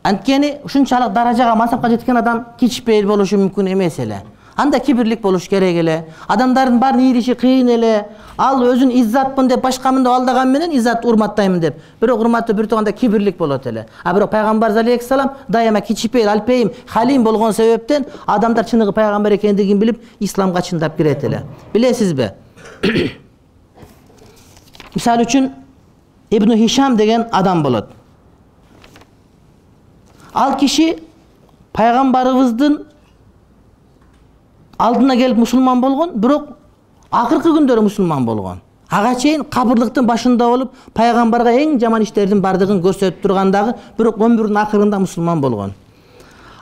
Анткени ушунчалык даражага, мансапка жеткен адам кичи пейил болушу мүмкүн эмес эле. Анда кибирлик болуш керек эле. Адамдардын баарын ийриши кыйын эле. Ал өзүн иззатмын деп, башкамын деп алдаган менен иззат урматтайм деп. Бирок урматтуу бир тууганда кибирлик болот эле. А бирок пайгамбарыбыз алейхиссалам дайыма кичипейил, алпейим, халим болгон себептен адамдар чыныгы пайгамбар экендигин билип, исламга чындап кирет эле. Билесизби? Мисалы үчүн Ибн Хишам деген адам болот. Ал киши пайгамбарыбыздын алдына келип мусулман болгон, бирок акыркы күндөрү мусулман болгон. Ага чейин кабырлыктын башында болуп, пайгамбарга эң жаман иштердин бардыгын көрсөтүп тургандагы, бирок өмүрүнүн акырында мусулман болгон.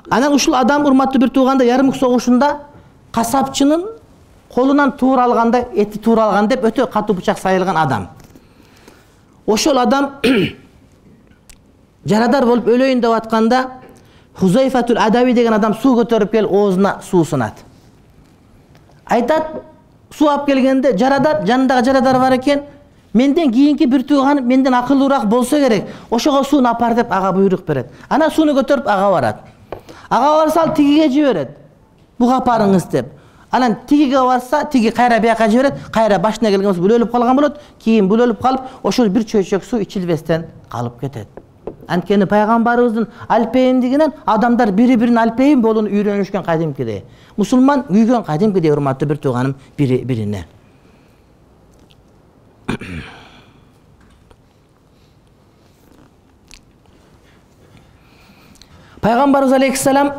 Анан ушул адам, урматтуу бир тууганда, Ярмук согушунда касапчынын колунан туура алганда, эти туура алган деп өтө катуу бычак сайылган адам. Ошол адам жарадар болуп өлөйүн деп атканда, Хузайфатул Адави деген адам суу көтөрүп келип оозуна суу сунат. Айтат, суу алып келгенде жарадар, жанындагы жарадар бар экен, менден кийинки бир тууганым менден акылдуураак болсо керек, ошого сууну апар деп ага буйрук берет. Анан сууну көтөрүп ага барат. Ага барса ал тигиге жиберет. Буга апарыңыз деп. Анан тигиге барса, тиги кайра бияка жиберет, кайра башына келген бул өлүп калган болот, кийин бул өлүп калып, ошол бир чөйчөк суу ичилбестен калып кетет. Анткени пайгамбарыбыздын алпейимдигинен адамдар бири-биринин алпейим болууну үйрөнүшкөн кадимкидей. Мусулман үйгөн кадимкидей, урматтуу бир тууганым, бири-бирине. Пайгамбарыбыз алейхиссалам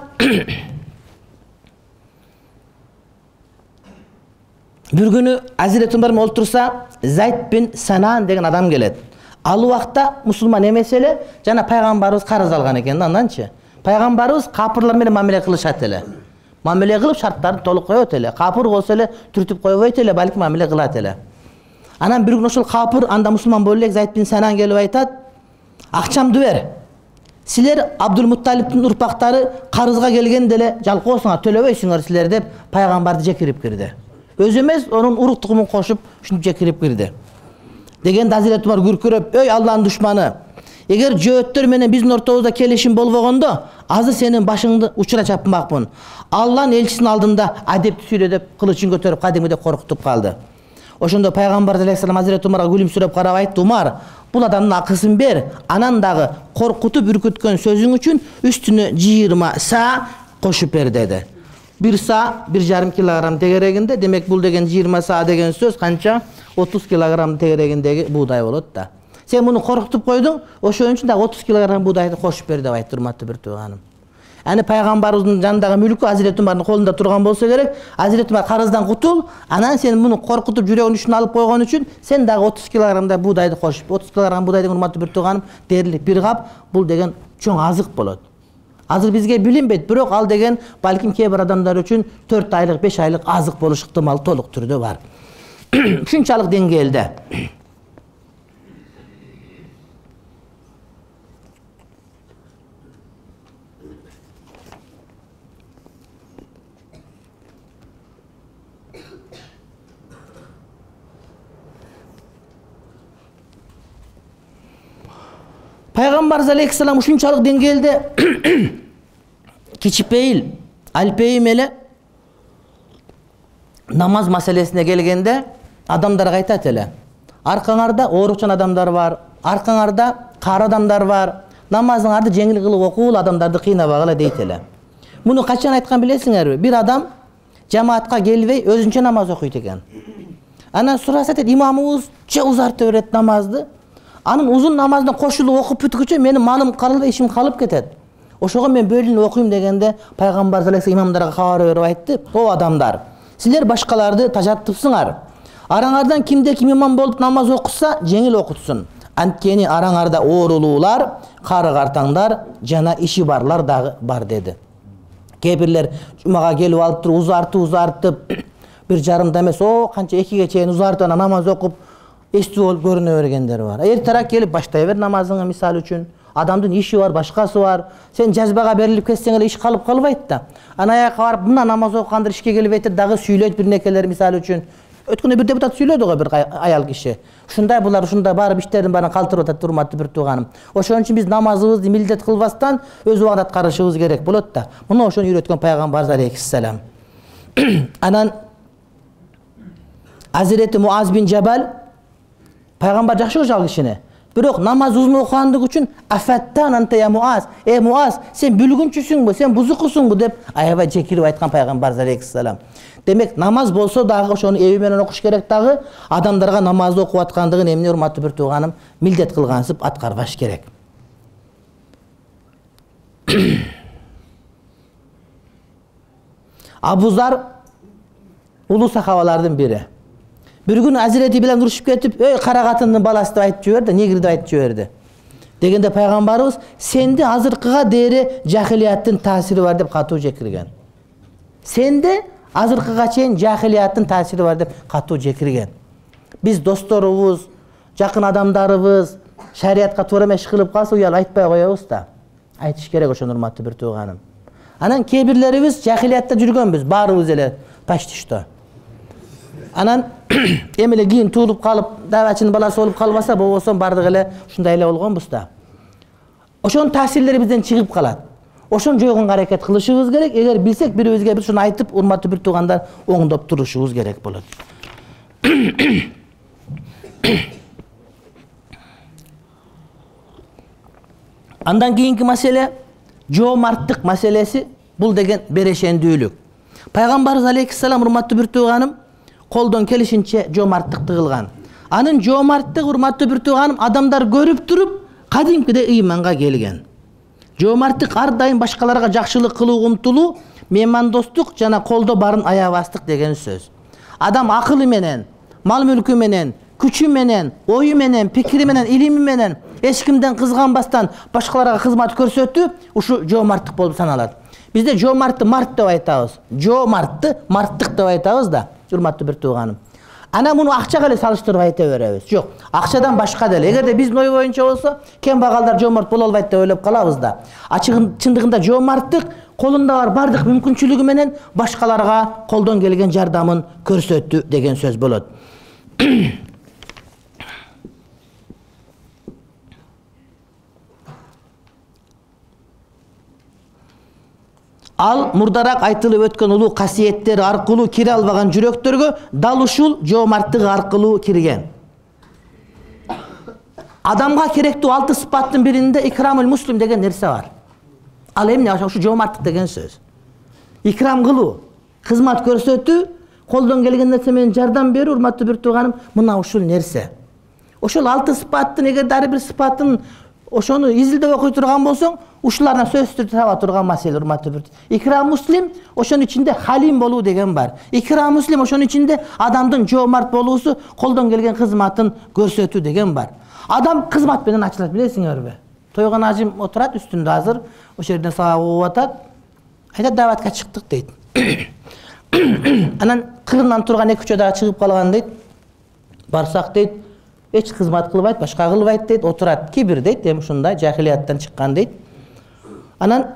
бир күнү Азирет Умар менен олтурса, Зайд бин Санан деген адам келет. Ал убакта мусулман эмес эле, жана пайгамбарыбыз карыз алган экен. Анданчы пайгамбарыбыз капырлар менен мамиле кылышат эле. Мамиле кылып шарттарын толук коет эле. Капыр болсо эле түртүп койбойт эле, балки мамиле кылат эле. Анан бир күн ошол капыр анда мусулман боло элек Зайд бин Санан келип айтат: акчамды бер. Силер Абдулмутталиптин урпактары карызга келгенде эле жалкоосуңар, төлөбөйсүңөр силер деп пайгамбарды жекирип кирди. Өзү эмес, онун урук тугумун кошуп ушинтип жекирип кирди. Дегенде Азирет Умар күркүрөп, "Ой Алланын душманы, эгер жөөттөр менен биздин ортобузда келишим болбогондо, азыр сенин башыңды учура чапмакмын. Алланын элчисинин алдында адепти сүйлө" деп кылычын көтөрүп кадимгидей коркутуп калды. Ошондо пайгамбар алейхиссалам Азирет Умарга күлүмсүрөп карап айтты: "Умар, бул адамдын акысын бер, анан дагы коркутуп үркүткөн сөзүң үчүн үстүнө жыйырма са кошуп бер" деди. Бир са бир жарым килограмм тегерегинде, демек бул деген жыйырма са деген сөз канча? отуз килограмм тегерегиндеги буудай болот да. Сен муну коркутуп койдуң, ошон үчүн дагы отуз килограмм буудайды кошуп бер деп айтты, урматтуу бир тууганым. Аны пайгамбарыбыздын жанындагы мүлкү Азирет Умардын колунда турган болсо керек, Азирет Умар карыздан кутул, анан сен муну коркутуп жүрөгүнүн үчүн алып койгон үчүн сен дагы отуз килограммдай буудайды кошуп, отуз килограмм буудай деген, урматтуу бир тууганым, дээрлик бир кап, бул деген чоң азык болот. Азыр бизге билинбейт, бирок ал деген балким кээ бир адамдар үчүн төрт айлык, беш айлык азык болуш ыктымалы толук түрдө бар. Ушунчалык деңгээлде. Пайгамбар алейхиссалам ушунчалык деңгээлде кичипейил, алпейим эле намаз маселесине келгенде адамдарга айтат эле: аркаңарда оорукчан адамдар бар, аркаңарда кары адамдар бар, намазыңарды жеңил кылып окуул, адамдарды кыйнабагыла дейт эле. Муну качан айткан билесиңерби? Бир адам жамаатка келбей өзүнчө намаз окуйт экен. Анан сураса дейт: имамыбыз же узарта берет намазды. Анын узун намазына кошулуп окуп бүткүчө менин малым калып, ишим калып кетет. Ошого мен бөлүнүп окуйм дегенде пайгамбар алейхиссалам имамдарга кабар берип айтты: "О адамдар, силер башкаларды тажаттыпсыңар. Араңардан кимде ким имам болуп намаз окуса, жеңил окутсун. Анткени араңарда оорулуулар, кары картаңдар жана иши барлар дагы бар" деди. Кээ бирлер жумага келип алып туруп узартып узартып, бир жарымда эмес, о канча экиге чейин узартып анан намаз окуп эстүү болуп көрүнө бергендер бар. Эртерээк келип баштай бер намазыңы, мисалы үчүн. Адамдын иши бар, башкасы бар. Сен жазбага берилип кетсең эле иш калып калбайт да. Анан аякка барып мына намаз окугандар ишке келбейт, дагы сүйлөйт бир некелер, мисалы үчүн. Өткөндө бир депутат сүйлөдү го, бир аял киши. Ушундай булар ушундай барып иштерин баарын калтырып атат, урматтуу бир тууганым. Ошон үчүн биз намазыбызды милдет кылбастан өз убагында аткарышыбыз керек болот да. Муну ошону үйрөткөн пайгамбар алейхиссалам. Анан Азирети Муаз бин Жабал пайгамбар жакшы көрчү ал кишини. Бирок намаз узун окугандыгы үчүн "Афаттан анта я Муаз, э Муаз, сен бүлгүнчүсүңбү, сен бузукусуңбу" деп аябай жекирип айткан пайгамбар алейхиссалам. Демек намаз болсо дагы ошону эби менен окуш керек дагы, адамдарга намазды окуп аткандыгын эмне, урматтуу бир тууганым, милдет кылгансып аткарбаш керек. Абу Зар улуу сахабалардын бири. Бир күнү Азирети менен урушуп кетип, "Ой, кара катындын баласы" деп айтып жиберди, негр деп айтып жиберди. Дегенде пайгамбарыбыз "Сенде азыркыга дейре жахилияттын таасири бар" деп катуу жекирген. Сенде азыркыга чейин жахилияттын таасири бар деп катуу жекирген. Биз досторубуз, жакын адамдарыбыз шариатка туура эмес кылып калса, уял айтпай коебуз да. Айтыш керек ошону, урматтуу бир тууганым. Анан кээ бирлерибиз жахилиятта жүргөнбүз, баарыбыз эле почти что. Анан эмеле кийин туулуп калып, дабачынын баласы болуп калбаса, болбосо бардык эле ушундай эле болгонбуз да. Ошонун таасирлери бизден чыгып калат. Ошону жойгонго аракет кылышыбыз керек. Эгер билсек, бири-бирибизге биз ушуну айтып, урматтуу бир туугандар, оңдоп турушубуз керек болот. Андан кийинки маселе жоомарттык маселеси. Бул деген берешендүүлүк. Пайгамбарыбыз алейхиссалам, урматтуу бир тууганым, колдон келишинче жоомарттыкты кылган. Анын жоомарттык, урматтуу бир тууганым, адамдар көрүп туруп, кадимкидей ыйманга келген. Жоомарттык ар дайым башкаларга жакшылык кылууга умтулуу, меймандостук жана колдо барын аябастык деген сөз. Адам акылы менен, мал мүлкү менен, күчү менен, ою менен, пикири менен, илими менен эч кимден кызганбастан башкаларга кызмат көрсөтүү ушу жоомарттык болуп саналат. Бизде жоомартты март деп айтабыз. Жоомартты марттык деп айтабыз да, урматтуу бир тууганым. Ана муну акчага эле салыштырып айта беребиз. Жок, акчадан башка деле. Эгерде биздин ой боюнча болсо, кембагалдар жомарт боло албайт деп ойлоп калабыз да. А чындыгында жомарттык колунда бар бардык мүмкүнчүлүгү менен башкаларга колдон келген жардамын көрсөттү деген сөз болот. Ал мурдарак айтылып өткөн улуу касиеттер аркылуу кире албаган жүрөктөргө дал ушул жомарттык аркылуу кирген. Адамга керектүү алты сыпаттын биринде икрамул муслим деген нерсе бар. Ал эмне? Ушу жомарттык деген сөз. Икрам кылуу, кызмат көрсөтүү, колдон келген нерсе менен жардам берүү, урматтуу бир тууганым, мына ушул нерсе. Ошол алты сыпаттын эгер ар бир сыпатын ошону изилдеп окуй турган болсоң, ушулардан сөзсүз таба турган маселе, урматтуу бир. Икрам муслим ошонун ичинде халим болуу деген бар. Икрам муслим ошонун ичинде адамдын жомарт болуусу, колдон келген кызматын көрсөтүү деген бар. Адам кызмат менен ачылат, билесиңерби? Тойгон ажым отурат үстүндө азыр, ошол жерден сага угуп атат. Айтат, даватка чыктык дейт. Анан кырынан турган эки үч дагы чыгып калган дейт. Барсак дейт, эч кызмат кылбайт, башка кылбайт дейт, отурат. Кибир дейт, эми ушундай жахилияттан чыккан дейт. Анан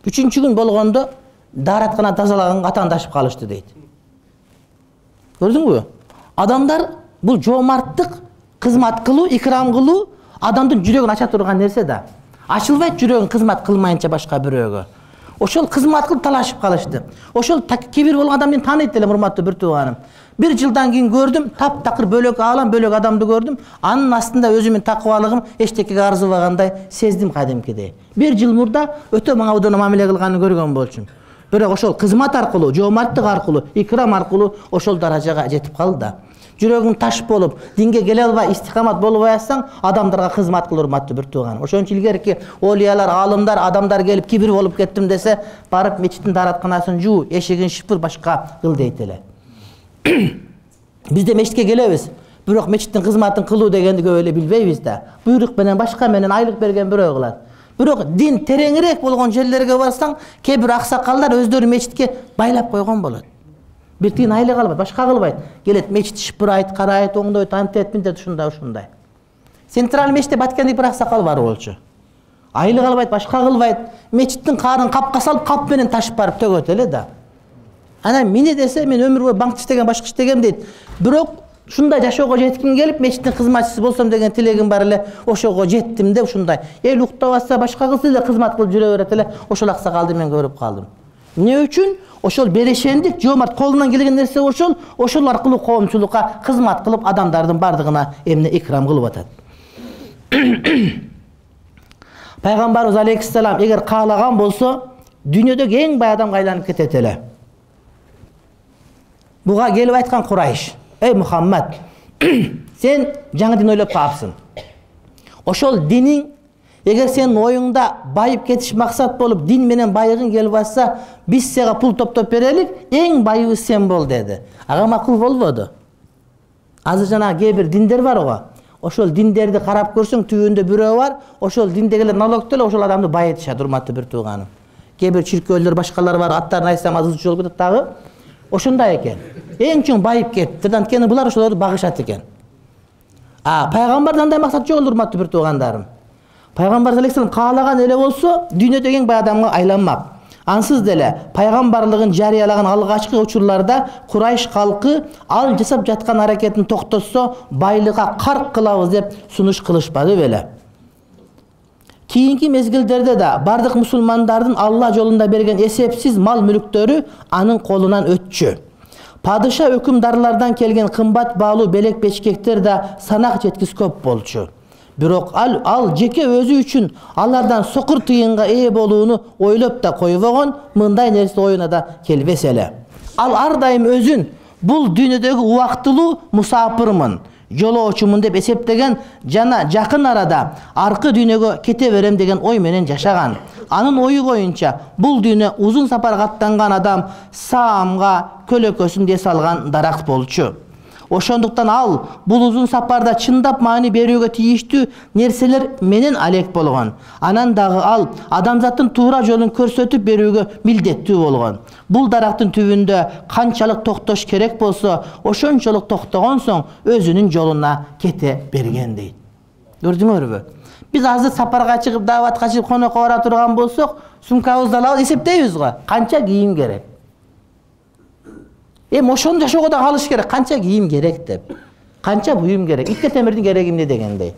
үчүнчү күн болгондо даараткана тазалаганга атаандашып калышты дейт. Көрдүңбү? Адамдар бул жомарттык, кызмат кылуу, икрам кылуу адамдын жүрөгүн ача турган нерсе да. Ачылбайт жүрөгүн кызмат кылмайынча башка бирөөгө. Ошол кызмат кылып талашып калышты. Ошол кибир болгон адам мени тааныйт элем, урматтуу бир тууганым. Бир жылдан кийин көрдүм, таптакыр бөлөк аалам, бөлөк адамды көрдүм. Анын астында өзүмдүн такыбалыгым эчтекеге арзыбагандай сездим кадимкидей. Бир жыл мурда өтө мага удуна мамиле кылганын көргөн болчумун. Бирок ошол кызмат аркылуу, жомарттык аркылуу, икрам аркылуу ошол даражага жетип калды да. Жүрөгүң таш болуп, динге келе албай, истикамат болбой атсаң, адамдарга кызмат кыл, урматтуу бир тууганым. Ошон үчүн илгерки олиялар, алымдар, адамдар келип кибир болуп кеттим десе, барып мечиттин дааратканасын жуу, эшигин шыпыр, башка кыл дейт эле. Биз да мечитке келебиз, бирок мечиттин кызматын кылуу дегенди көп эле билбейбиз да. Буйрук менен, башка менен айлык берген бирөө кылат. Бирок дин тереңирээк болгон жерлерге барсаң, кээ бир аксакалдар өздөрү мечитке байлап койгон болот. Бир тиын айлык албайт, башка кылбайт. Келет мечит шыпырайт, карайт, оңдойт, антет, минтет, ушундай, ушундай. Централь мечитте Баткендик бир аксакал бар болчу. Айлык албайт, башка кылбайт. Мечиттин каарын капка салып, кап менен ташып барып төгөт эле да. Анан мени десе, мен өмүр бою банкта иштеген, башка иштегем дейт. Бирок ушундай жашоого жетким келип, мечиттин кызматчысы болсом деген тилегим бар эле, ошого жеттим деп ушундай. Эл уктап атса, башка кылса эле кызмат кылып жүрө берет эле, ошол аксакалды мен көрүп калдым. Эмне үчүн? Ошол берешендик, жомарт колунан келген нерсе ошол, ошол аркылуу коомчулукка кызмат кылып, адамдардын бардыгына эмне икрам кылып атат. Пайгамбарыбыз алейхиссалам эгер каалаган болсо, дүйнөдөгү эң бай адамга айланып кетет эле. Буга келип айткан Курайш: "Эй Мухаммад, сен жаңы дин ойлоп калыпсың. Ошол диниң эгер сенин оюңда байып кетиш максат болуп, дин менен байыгың келип атса, биз сага пул топтоп берелик, эң байыбыз сен бол" деди. Ага макул болбоду. Азыр жана кээ бир диндер бар го. Ошол диндерди карап көрсөң, түбүндө бирөө бар, ошол диндегилер налогду эле ошол адамды байытышат, урматтуу бир тууганым. Кээ бир чиркөөлөр, башкалар бар, аттарын айтсам азыр жол кетет дагы. Ошондой экен. Эң чоң байып кетти. Анткени булар ошолорду багышат экен. А пайгамбардан андай максат жок, урматтуу бир туугандарым. Пайгамбар алейхиссалам каалаган эле болсо, дүйнөдөгү эң бай адамга айланмак. Ансыз деле пайгамбарлыгын жарыялаган алгачкы учурларда Курайш калкы ал жасап жаткан аракетин токтотсо, байлыкка карк кылабыз деп сунуш кылышпады беле. Кийинки мезгилдерде да бардык мусулмандардын Алла жолунда берген эсепсиз мал мүлүктөрү анын колунан өтчү. Падыша өкүмдарлардан келген кымбат баалуу белек бечкектер да санак жеткис көп болчу. Бирок ал, ал жеке өзү үчүн алардан сокур тыйынга ээ болууну ойлоп да койбогон, мындай нерсе оюна да келбес эле. Ал ар дайым өзүн бул дүйнөдөгү убактылуу мусапырмын, жолоочумун деп эсептеген жана жакын арада аркы дүйнөгө кете берем деген ой менен жашаган. Анын ою боюнча бул дүйнө узун сапарга аттанган адам саамга көлөкөсүн дес алган даракт болчу. Ошондуктан ал бул узун сапарда чындап маани берүүгө тийиштүү нерселер менен алек болгон. Анан дагы ал адамзаттын туура жолун көрсөтүп берүүгө милдеттүү болгон. Бул дарактын түбүндө канчалык токтош керек болсо, ошончолук токтогон соң өзүнүн жолуна кете берген дейт. Көрдүңөрбү? Биз азыр сапарга чыгып, дааватка чыгып, конокко бара турган болсок, сумкабызды алабыз, эсептейбиз го. Канча кийим керек? Эми ошону жашоого да калыш керек. Канча кийим керек деп. Канча буюм керек? Итке темирдин кереги эмне дегендей.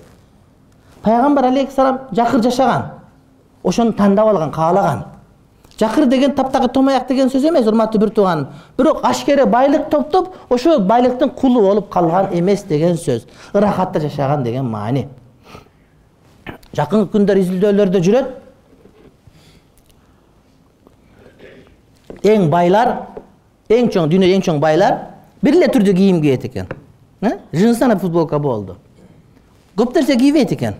Пайгамбар алейхиссалам жакыр жашаган. Ошону тандап алган, каалаган. Жакыр деген таптагы томаяк деген сөз эмес, урматтуу бир тууганым. Бирок ашкере байлык топтоп, ошо байлыктын кулу болуп калган эмес деген сөз. Ырахатта жашаган деген маани. Жакынкы күндөр изилдөөлөрдө жүрөт. Эң байлар, эң чоң, дүйнөдө эң чоң байлар бир эле түрдө кийим кийет экен. Жынсана футболка болду. Көп нерсе кийбейт экен.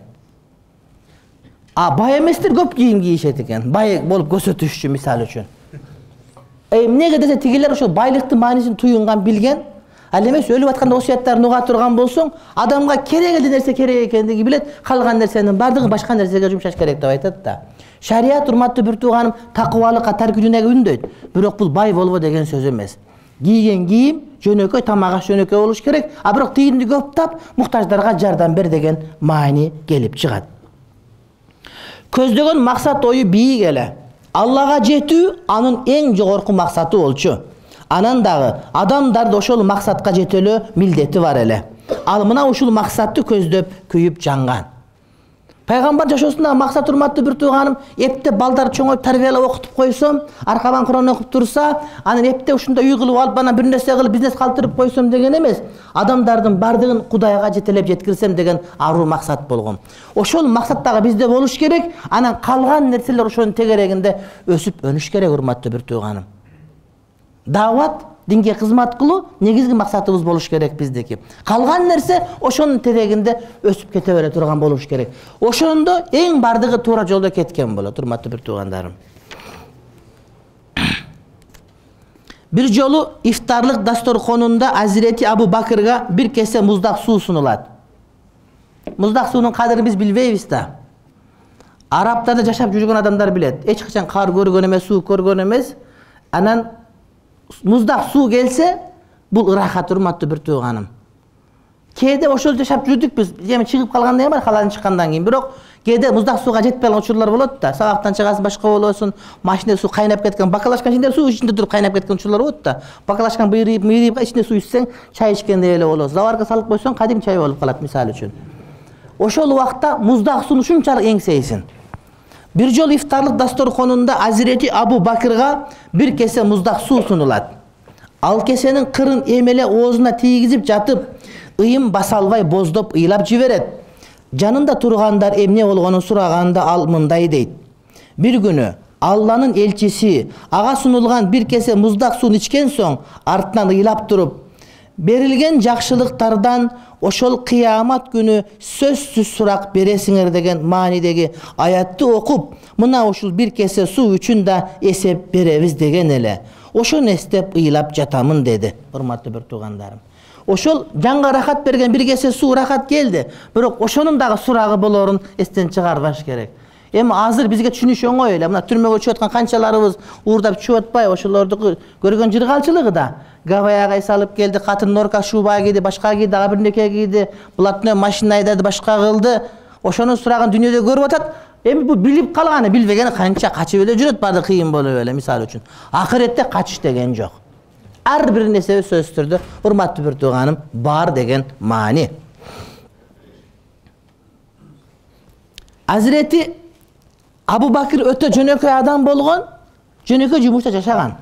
А бай эместер көп кийим кийишет экен. Бай болуп көрсөтүш үчүн, мисал үчүн. Э, эмнеге десе тигилер ошо байлыктын маанисин туюнган, билген. Ал эмес өлүп атканда осуяттарын уга турган болсоң, адамга керек эле нерсе керек экендиги билет, калган нерсенин бардыгы башка нерсеге жумшаш керек деп айтат да. Шарият, урматтуу бир тууганым, такыбалыкка, таркүнүнө үндөйт. Бирок бул бай болбо деген сөз эмес. Кийген кийим жөнөкөй, тамак аш жөнөкөй болуш керек, а бирок тиинди көп тап, муктаждарга жардам бер деген маани келип чыгат. Көздөгөн максат ою бийик эле. Аллага жетүү анын эң жогорку максаты болчу. Анан дагы адамдарды ошол максатка жетелөө милдети бар эле. Ал мына ушул максатты көздөп күйүп жанган. Пайгамбар жашоосундагы максат, урматтуу бир тууганым, эптеп балдар чоңоюп тарбиялап окутуп койсом, аркабан Куран окуп турса, анан эптеп ушунда үй кылып алып, анан бир нерсе кылып бизнес калтырып койсом деген эмес. Адамдардын бардыгын Кудайга жетелеп жеткирсем деген аруу максат болгон. Ошол максат дагы бизде болуш керек, анан калган нерселер ошонун тегерегинде өсүп өнүш керек, урматтуу бир тууганым. Даават, динге кызмат кылуу негизги максатыбыз болуш керек биздики. Калган нерсе ошонун терегинде өсүп кете бере турган болуш керек. Ошондо эң бардыгы туура жолдо кеткен болот, урматтуу бир туугандарым. Бир жолу ифтарлык дасторконунда Азирети Абу Бакырга бир кесе муздак суу сунулат. Муздак суунун кадырын биз билбейбиз да. Арабтарда жашап жүргөн адамдар билет. Эч качан кар көргөн эмес, суу көргөн эмес. Анан муздак суу келсе, бул ырахат, урматтуу бир тууганым. Кээде ошол жашап жүрдүк биз. Эми чыгып калгандай бар, халадан чыккандан кийин. Бирок кээде муздак сууга жетпей калган учурлар болот да. Сабактан чыгасың, башка болосуң, машинада суу кайнап кеткен, бакалашкан ичинде суу ичинде туруп кайнап кеткен учурлар болот да. Бакалашкан быйрыйып, мыйрыйып, ичинде суу ичсең, чай ичкендей эле болосуң. Заварга салып койсоң, кадим чай болуп калат, мисалы үчүн. Ошол убакта муздак сууну ушунчалык эңсейсиң. Бир жол ифтарлык дасторконунда Азирети Абу Бакырга бир кесе муздак суу сунулат. Ал кесенин кырын эмеле оозуна тийгизип жатып, ыйым баса албай боздоп ыйлап жиберет. Жанында тургандар эмне болгонун сураганда ал мындай дейт. Бир күнү Алланын элчиси ага сунулган бир кесе муздак сууну ичкен соң, артынан ыйлап туруп, берилген жакшылыктардан ошол кыямат күнү сөзсүз сурак бересиңер деген маанидеги аятты окуп, мына ушул бир кесе суу үчүн да эсеп беребиз деген эле. Ошону эстеп ыйлап жатамын деди, урматтуу бир туугандарым. Ошол жанга рахат берген бир кесе суу рахат келди, бирок ошонун дагы сурагы болорун эстен чыгарбаш керек. Эми азыр бизге түшүнүш оңой эле. Мына түрмөгө чыгып аткан канчаларыбыз уурдап чыгып атпайбы, ошолорду көргөн жыргалчылыгы да. Гавайяга салып келди, катын норка шуба кийди, башка кийди, дагы бир неке кийди, блатной машина айдады, башка кылды. Ошонун сурагын дүйнөдө көрүп атат. Эми бул билип калганы, билбегени канча качып эле жүрөт, баары кыйын болуп эле, мисалы үчүн. Акыретте качыш деген жок. Ар бир нерсе сөзсүз түрдө, урматтуу бир тууганым, бар деген маани. Азирети Абу Бакыр өтө жөнөкөй адам болгон, жөнөкөй жумушта жашаган.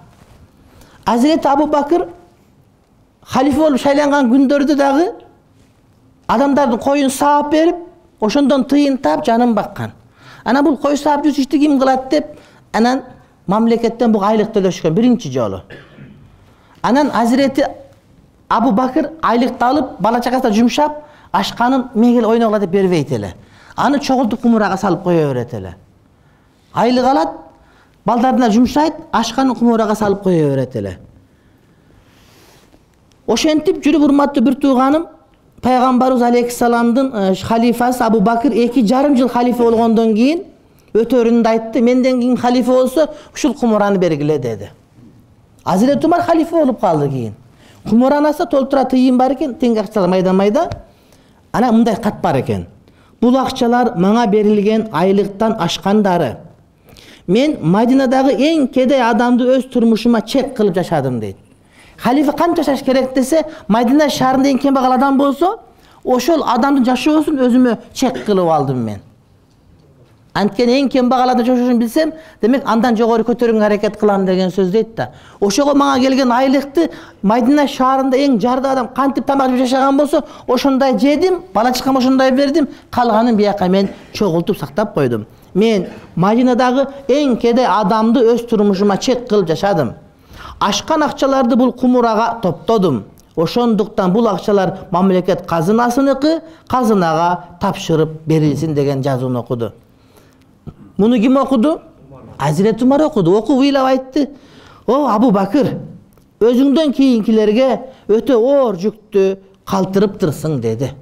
Азирети Абу Бакыр халифе болуп шайланган күндөрдө дагы адамдардын коюн саап берип, ошондон тыйын таап жанын баккан. Анан бул кой саап жүрүш ишти ким кылат деп, анан мамлекеттен буга айлык төлөшкөн биринчи жолу. Анан Азирети Абу Бакыр айлыкты алып, бала чагасына жумшап, ашканын мегел ойногула деп бербейт эле. Аны чогултуп кумурага салып кое берет эле. Айлык алат, балдарына жумшайт, ашканын кумурага салып кое берет эле. Ошентип жүрүп урматтуу бир тууганым, пайгамбарыбыз алейхиссаламдын халифасы Абу Бакыр эки жарым жыл халифа болгондон кийин өтөрүндө айтты, менден кийин халифа болсо ушул кумураны бергиле деди. Азирет Умар халифа болуп калды кийин. Кумуранасы толтура тыйын бар экен, тең акчалар майда-майда. Ана мындай кат бар экен. Бул акчалар мага берилген айлыктан ашкандары. Мен Мадинадагы эң кедей адамды өз турмушума чек кылып жашадым дейт. Халифа канча жашаш керек десе, Мадина шаарында эң кембагал адам болсо, ошол адамдын жашоосун өзүмө чек кылып алдым мен. Анткени эң кембагал адам жашоошун билсем, демек андан жогору көтөрүүгө аракет кылам деген сөз дейт да. Ошого мага келген айлыкты Мадина шаарында эң жарды адам кантип тамак жеп жашаган болсо, ошондой жедим, бала чакам ошондой бердим, калганын бияка мен чогултуп сактап койдум. Мен Мадинадагы эң кедей адамды өз турмушума чек кылып жашадым. Ашкан акчаларды бул кумурага топтодум. Ошондуктан бул акчалар мамлекет казынасыныкы, казынага тапшырып берилсин деген жазууну окуду. Муну ким окуду? Азирет Умар окуду. Окуп ыйлап айтты. О, Абу Бакыр, өзүңдөн кийинкилерге өтө оор жүктү калтырыптырсың деди.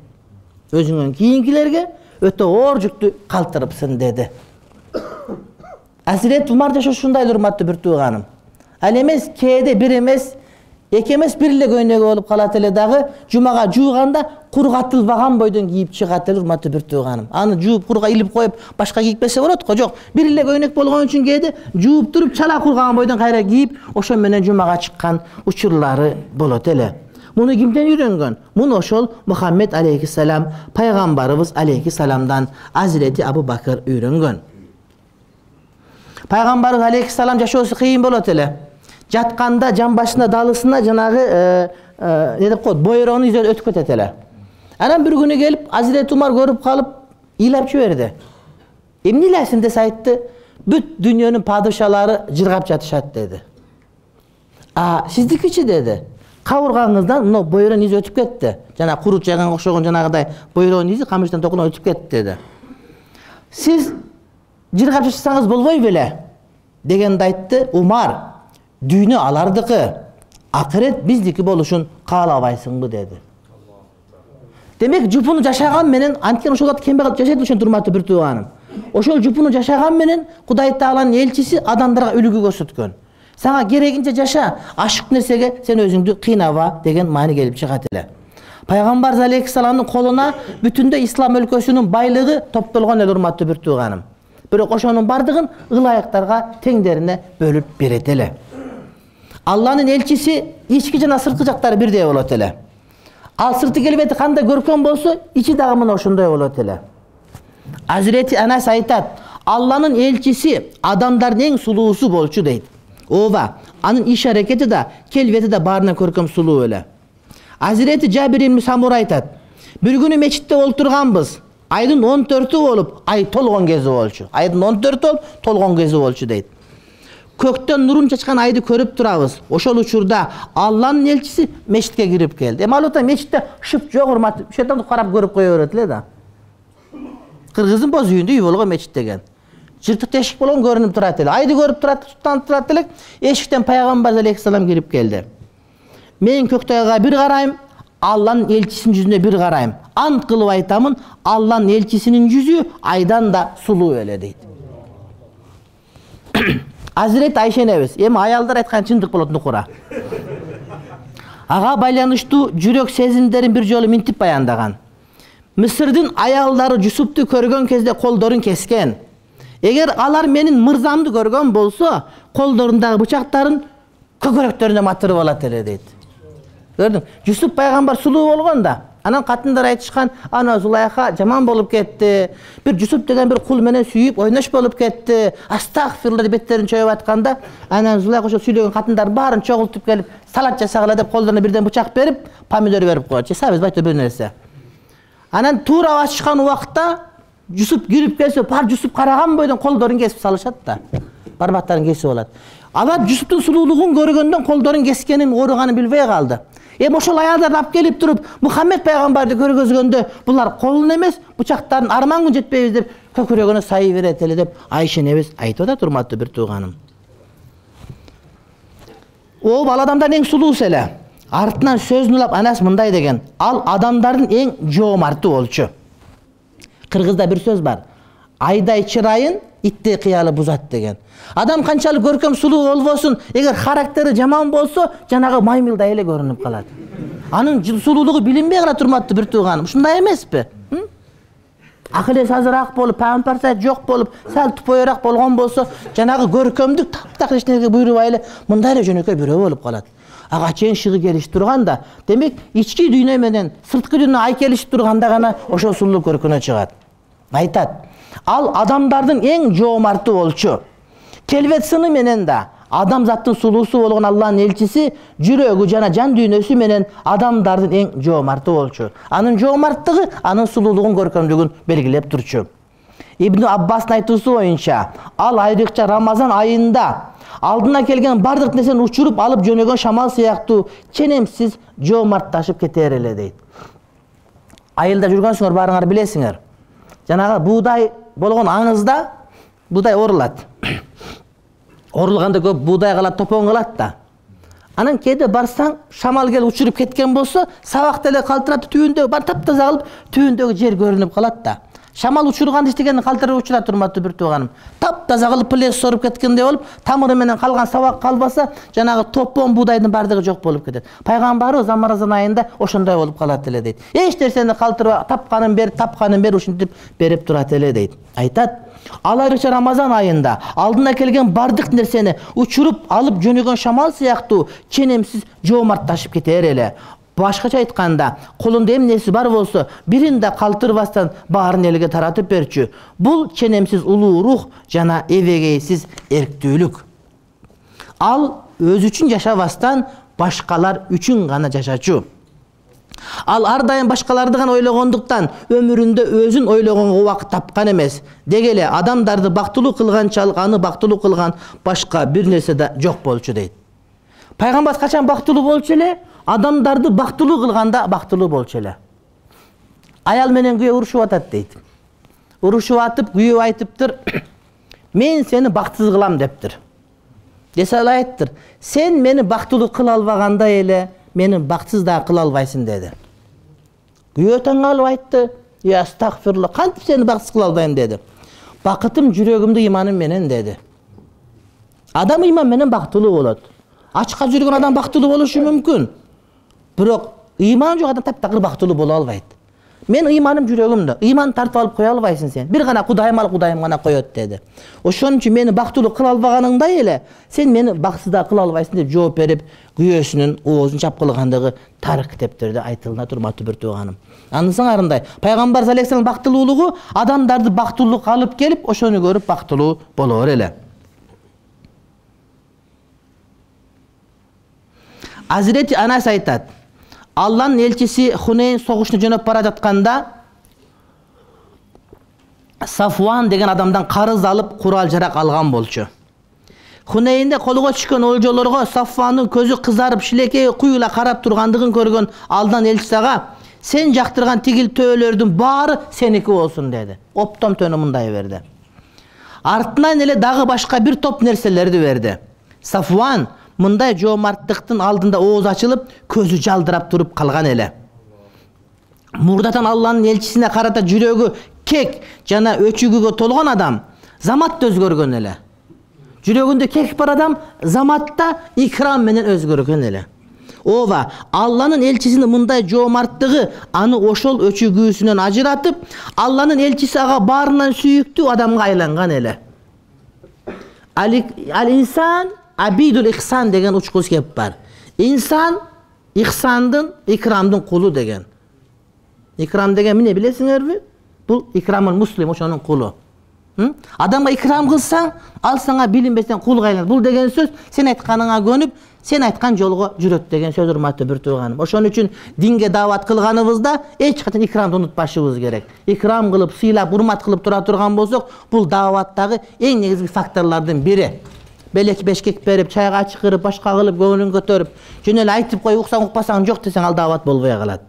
Өзүңдөн кийинкилерге өтө оор жүктү калтырыпсың деди. Азирет Умар жашошундай урматтуу бир тууганым. Ал эмес кээде бир эмес, эки эмес бир эле көйнөгү болуп калат эле дагы, жумага жууганда кургатылбаган бойдон кийип чыгат эле урматтуу бир тууганым. Аны жууп курга илип коюп, башка кийиппесе болот го, жок. Бир эле көйнөк болгон үчүн кээде жууп туруп чала кургаган бойдон кайра кийип, ошо менен жумага чыккан учурлары болот эле. Муну кимден үйрөнгөн? Муну ошол Мухаммед алейхиссалам, пайгамбарыбыз алейхиссаламдан Азирети Абу Бакыр үйрөнгөн. Пайгамбарыбыз алейхиссалам жашоосу кыйын болот эле. Жатканда жан башына далысына жанагы не деп коет, бойрону изеп өтүп кетет эле. Анан бир күнү келип Азирет Умар көрүп калып ыйлап жиберди. Эмне илесиң десе айтты, бүт дүйнөнүн падышалары жыргап жатышат деди. А сиздикичи деди. Кабыргаңыздан мына бойрон изи өтүп кетти. Жана курут жайганга окшогон жанагыдай бойрон изи камыштан токуна өтүп кетти деди. Сиз жыргап жашасаңыз болбой беле дегенди айтты. Умар, дүйнө алардыкы, акырет биздики болушун каалабайсыңбы деди. Демек жупуну жашаган менен, анткени ошол вакыт кембагал жашайт ошон урматтуу бир тууганым. Ошол жупуну жашаган менен Кудай Тааланын элчиси адамдарга үлгү көрсөткөн. Сага керегинче жаша, ашык нерсеге сен өзүңдү кыйнаба деген маани келип чыгат эле. Пайгамбар алейхиссаламдын колуна бүтүндөй ислам өлкөсүнүн байлыгы топтолгон эле урматтуу бир тууганым. Бирок ошонун бардыгын ылайыктарга теңдерине бөлүп берет эле. Алланын элчиси ички жана сырткы жактары бирдей болот эле. Ал сырты келбети кандай көркөм болсо, ичи дагы мына ошондой болот эле. Азирети Анас айтат, Алланын элчиси адамдардын эң сулуусу болчу дейт. Ооба, анын иш аракети да, келбети да баарынан көркөм сулуу эле. Азирети Жабир ибн Самура айтат, бир күнү мечитте олтурганбыз. Айдын он төртү болуп, ай толгон кези болчу. Айдын он төртү болуп, толгон кези болчу дейт. Көктөн нурун чачкан айды көрүп турабыз. Ошол учурда Алланын элчиси мечитке кирип келди. Эми албетте мечитте шып жок урмат, шейтанды карап көрүп кое берет эле да. Кыргыздын боз үйүндө үй болгон мечит деген. Жыртык тешик болгон көрүнүп турат эле. Айды көрүп турат, туттанып турат эле. Эшиктен пайгамбар алейхиссалам кирип келди. Мен Көктайга бир карайм, Алланын элчисинин жүзүнө бир карайм. Ант кылып айтамын, Алланын элчисинин жүзү айдан да сулуу эле дейт. Азирет Айша энебиз, эми аялдар айткан чындык болот нукура. Ага байланыштуу жүрөк сезимдерин бир жолу минтип баяндаган. Мисырдын аялдары Жусупту көргөн кезде колдорун кескен. Эгер алар менин мырзамды көргөн болсо, колдорундагы бычактарын көкөрөктөрүнө матырып алат эле дейт. Көрдүң? Жусуп пайгамбар сулуу болгон да. Анан катындар айтышкан, ана Зулайха жаман болуп кетти. Бир Жусуп деген бир кул менен сүйүп, ойнош болуп кетти. Астагфирулла деп беттерин чөйүп атканда, анан Зулайха ошо сүйлөгөн катындар баарын чогултуп келип, салат жасагыла деп колдоруна бирден бычак берип, помидор берип коет. Жасабыз байты бир нерсе. Анан туура ачышкан убакта Жусуп кирип келсе, бар Жусуп караган бойдон колдорун кесип салышат да. Бармактарын кесип алат. Алар Жусуптун сулуулугун көргөндөн колдорун кескенин, ооруганын билбей калды. Эми ошол аялдар алып келип туруп, Мухаммед пайгамбарды көргөзгөндө, булар колун эмес, бычактарын армангын жетпейбиз деп көкүрөгүнө сайы берет эле деп Айша энебиз айтып атат, урматтуу бир тууганым. О, бала адамдар эң сулуусу эле. артынан сөзүн улап Анас мындай деген: ал адамдардын эң жоомарты болчу. Кыргызда бир сөз бар: айдай чырайын иттей кыялы бузат деген. Адам канчалык көркөм сулуу болбосун, эгер характери жаман болсо, жанагы маймылдай эле көрүнүп калат. Анын сулуулугу билинбей кала турматтуу бир тууганым. Ушундай эмеспи? Акыл эси азыраак болуп, памперсайт жок болуп, сал тупоюраак болгон болсо, жанагы көркөмдүк таптак эч нерсе буйрубай эле мындай эле жөнөкөй бирөө болуп калат. Ага чейин шыгы келишип турганда, демек ички дүйнө менен сырткы дүйнө ай келишип турганда гана ошол сулуу көркүнө чыгат. Айтат: ал адамдардын эң жоомарты болчу. Келбет сыны менен да адамзаттын сулуусу болгон Алланын элчиси жүрөгү жана жан дүйнөсү менен адамдардын эң жоомарты болчу. Анын жоомарттыгы анын сулуулугун, көркөмдүгүн белгилеп турчу. Ибн Аббастын айтуусу боюнча, ал айрыкча Рамазан айында алдына келген бардык нерсени учуруп алып жөнөгөн шамал сыяктуу ченемсиз жоомартташып кетер эле дейт. Айылда жүргөнсүңөр, баарыңар билесиңер. Жанагы буудай болгон аңызда буудай орулат. Орулганда көп буудай калат, топон калат да. Анан кээде барсаң, шамал келип учуруп кеткен болсо, сабакты эле калтыратып түбүндө бар таптаза кылып, түбүндөгү жер көрүнүп калат да. Шамал учурган иштегенин калтырып учура турматтуу бир тууганым. Таптаза кылып плес соруп кеткендей болуп, тамыры менен калган сабак калбаса, жанагы топон буудайдын бардыгы жок болуп кетет. Пайгамбарыбыз Рамазан айында ошондой болуп калат эле дейт. Эч нерсени калтырбай, тапканын бер, тапканын бер ушинтип берип турат эле дейт. Айтат: ал айрыкча Рамазан айында алдына келген бардык нерсени учуруп алып жөнөгөн шамал сыяктуу ченемсиз жоомартташып кетер эле. Башкача айтканда, колунда эмнеси бар болсо, бирин да калтырбастан баарын элге таратып берчү. Бул ченемсиз улуу рух жана эбегейсиз эрктүүлүк. Ал өзү үчүн жашабастан башкалар үчүн гана жашачу. Ал ар дайым башкаларды гана ойлогондуктан өмүрүндө өзүн ойлогонго убакыт тапкан эмес. Деги эле адамдарды бактылуу кылганчалык аны бактылуу кылган башка бир нерсе да жок болчу дейт. Пайгамбар качан бактылуу болчу эле? Адамдарды бактылуу кылганда бактылуу болчу эле. Аял менен күйөө урушуп атат дейт. Урушуп атып, күйөө айтыптыр: мен сени бактсыз кылам дептир. Десе ал айттыр: сен мени бактылуу кыла албагандай эле мени бактсыз да кыла албайсың деди. Күйөө таң калып айтты: я астагфирулла, кантип сени бактсыз кыла албайм деди. Бакытым жүрөгүмдү иманым менен деди. Адам иман менен бактылуу болот. Ачка жүргөн адам бактылуу болушу мүмкүн. Бирок иман жок адам таптакыр бактылуу боло албайт. Мен иманым жүрөгүмдө. Иман тартып алып кое албайсың сен. Бир гана Кудайым ал, Кудайым гана коет деди. Ошон үчүн мени бактылуу кыла албаганыңдай эле сен мени бактсыз да кыла албайсың деп жооп берип, күйөөсүнүн оозун чапкылагандыгы тарых китептерде айтылына турматтуу бир тууганым. Анысың арындай, Пайгамбар алейхиссалам бактылуулугу адамдарды бактылуулукка алып келип, ошону көрүп бактылуу болор эле. Азирети Анас айтат: Алланын элчиси Хунейн согушуна жөнөп бара жатканда Сафуан деген адамдан карыз алып, курал-жарак алган болчу. Хунейнде колго түшкөн олжолорго Сафуандын көзү кызарып, шилекеги куюла карап тургандыгын көргөн Алланын элчиси ага: сен жактырган тигил төөлөрдүн баары сеники болсун деди. Оптом төнү мындай берди. Артынан эле дагы башка бир топ нерселерди берди. Сафуан мындай жоомарттыктын алдында оозу ачылып, көзү жалдырап туруп калган эле. Мурдатан Алланын элчисине карата жүрөгү кек жана өчүгүгө толгон адам заматта өзгөргөн эле. Жүрөгүндө кек бар адам заматта икрам менен өзгөргөн эле. Ооба, Алланын элчисинин мындай жоомарттыгы аны ошол өчүгүүсүнөн ажыратып, Алланын элчиси ага баарынан сүйүктүү адамга айланган эле. Ал-инсан абидул ихсан деген учкус кеп бар. Инсан ихсандын, икрамдын кулу деген. Икрам деген эмне билесиңерби? Бул икрамул муслим, ошонун кулу. Адамга икрам кылсаң, ал сага билинбестен кулга айланат. Бул деген сөз сен айтканыңа көнүп, сен айткан жолго жүрөт деген сөз, урматтуу бир тууганым. Ошон үчүн динге даават кылганыбызда эч качан икрамды унутпашыбыз керек. Икрам кылып, сыйлап, урмат кылып тура турган болсок, бул дааваттагы эң негизги факторлордун бири. Белек бешкек берип, чайга чакырып, башка кылып, көңүлүн көтөрүп, жөн эле айтып кой, уксаң укпасаң жок десең, ал даават болбой калат.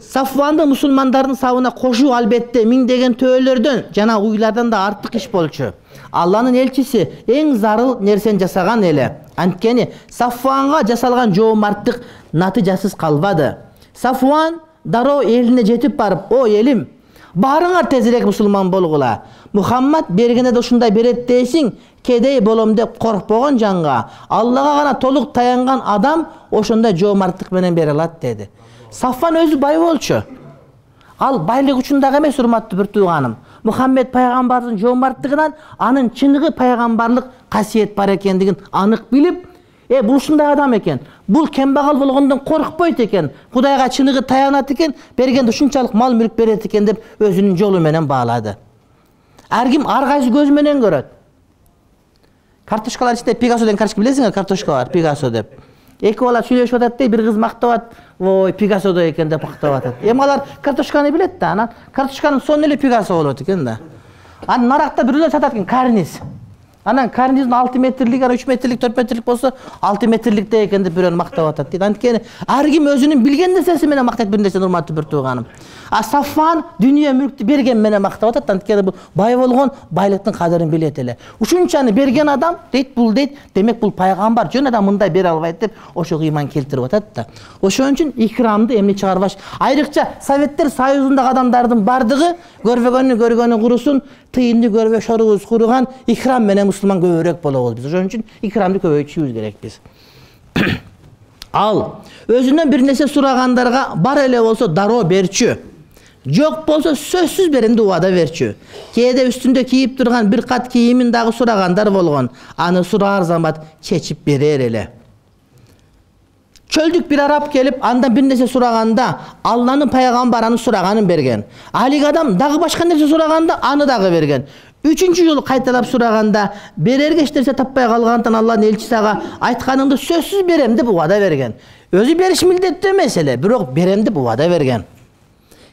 Сафванды мусулмандардын сабына кошуу албетте миңдеген төөлөрдөн жана уйлардан да артык иш болчу. Алланын элчиси эң зарыл нерсени жасаган эле. Анткени Сафванга жасалган жоомарттык натыйжасыз калбады. Сафван дароо элине жетип барып: "О элим, баарыңар тезирээк мусулман болгула. Мухаммад бергенде да ушундай берет дейсиң, кедей болом деп коркпогон жанга Аллага гана толук таянган адам ошондой жоомарттык менен бере алат" деди. Сафван өзү бай болчу. Ал байлык үчүн дагы эмес, урматтуу бир тууганым. Мухаммед пайгамбардын жоомарттыгынан анын чыныгы пайгамбарлык касиет бар экендигин анык билип, э бул ушундай адам экен, бул кембагал болгондон коркпойт экен, Кудайга чыныгы таянат экен, бергенде ушунчалык мал мүлк берет экен деп өзүнүн жолу менен баалады. Ар ким ар кайсы көз менен көрөт. Картошкалар ичинде Пикассо деген карточка билесиңер, картошка бар, Пикассо деп. Эки бала сүйлөшүп атат дей, бир кыз мактап, "Ой, Пикассодой экен" деп мактап атат. Эми алар картошканы билет да, анан картошканын сонун эле Пикассо болот экен да. Анан наракта бирөө сатат экен, карниз. Анан карниздин алты метрлик, ана үч метрлик, төрт метрлик болсо, алты метрликте экен деп бирөө мактап атат дейт. Анткени ар ким өзүнүн билген нерсеси менен мактайт бир нерсени, урматтуу бир тууганым. А Сафван дүйнө мүлктү берген менен мактап атат, анткени бул бай болгон байлыктын кадырын билет эле. Ушунчаны берген адам дейт, бул дейт, демек бул пайгамбар, жөн адам мындай бере албайт деп ошого ыйман келтирип атат да. Ошон үчүн икрамды эмне чыгарбаш. Айрыкча Советтер Союзундагы адамдардын бардыгы көрбөгөнү көргөнү курусун, тыйынды көрбө шорубуз куруган, икрам менен мусулман көбүрөөк болобуз биз. Ошон үчүн икрамды көбөйтүшүбүз керек биз. Ал өзүнөн бир нерсе сурагандарга бар эле болсо дароо берчү. Жок болсо сөзсүз берем деп убада берчү. Кээде үстүндө кийип турган бир кат кийимин дагы сурагандар болгон. Аны сураар замат чечип берер эле. Чөлдүк бир араб келип, андан бир нерсе сураганда, Алланын пайгамбары аны сураганын берген. Алик адам дагы башка нерсе сураганда, аны дагы берген. Үчүнчү жолу кайталап сураганда, берерге эч нерсе таппай калгандыктан Алланын элчиси ага айтканыңды сөзсүз берем деп убада берген. Өзү бериш милдеттүү эмес эле, бирок берем деп убада берген.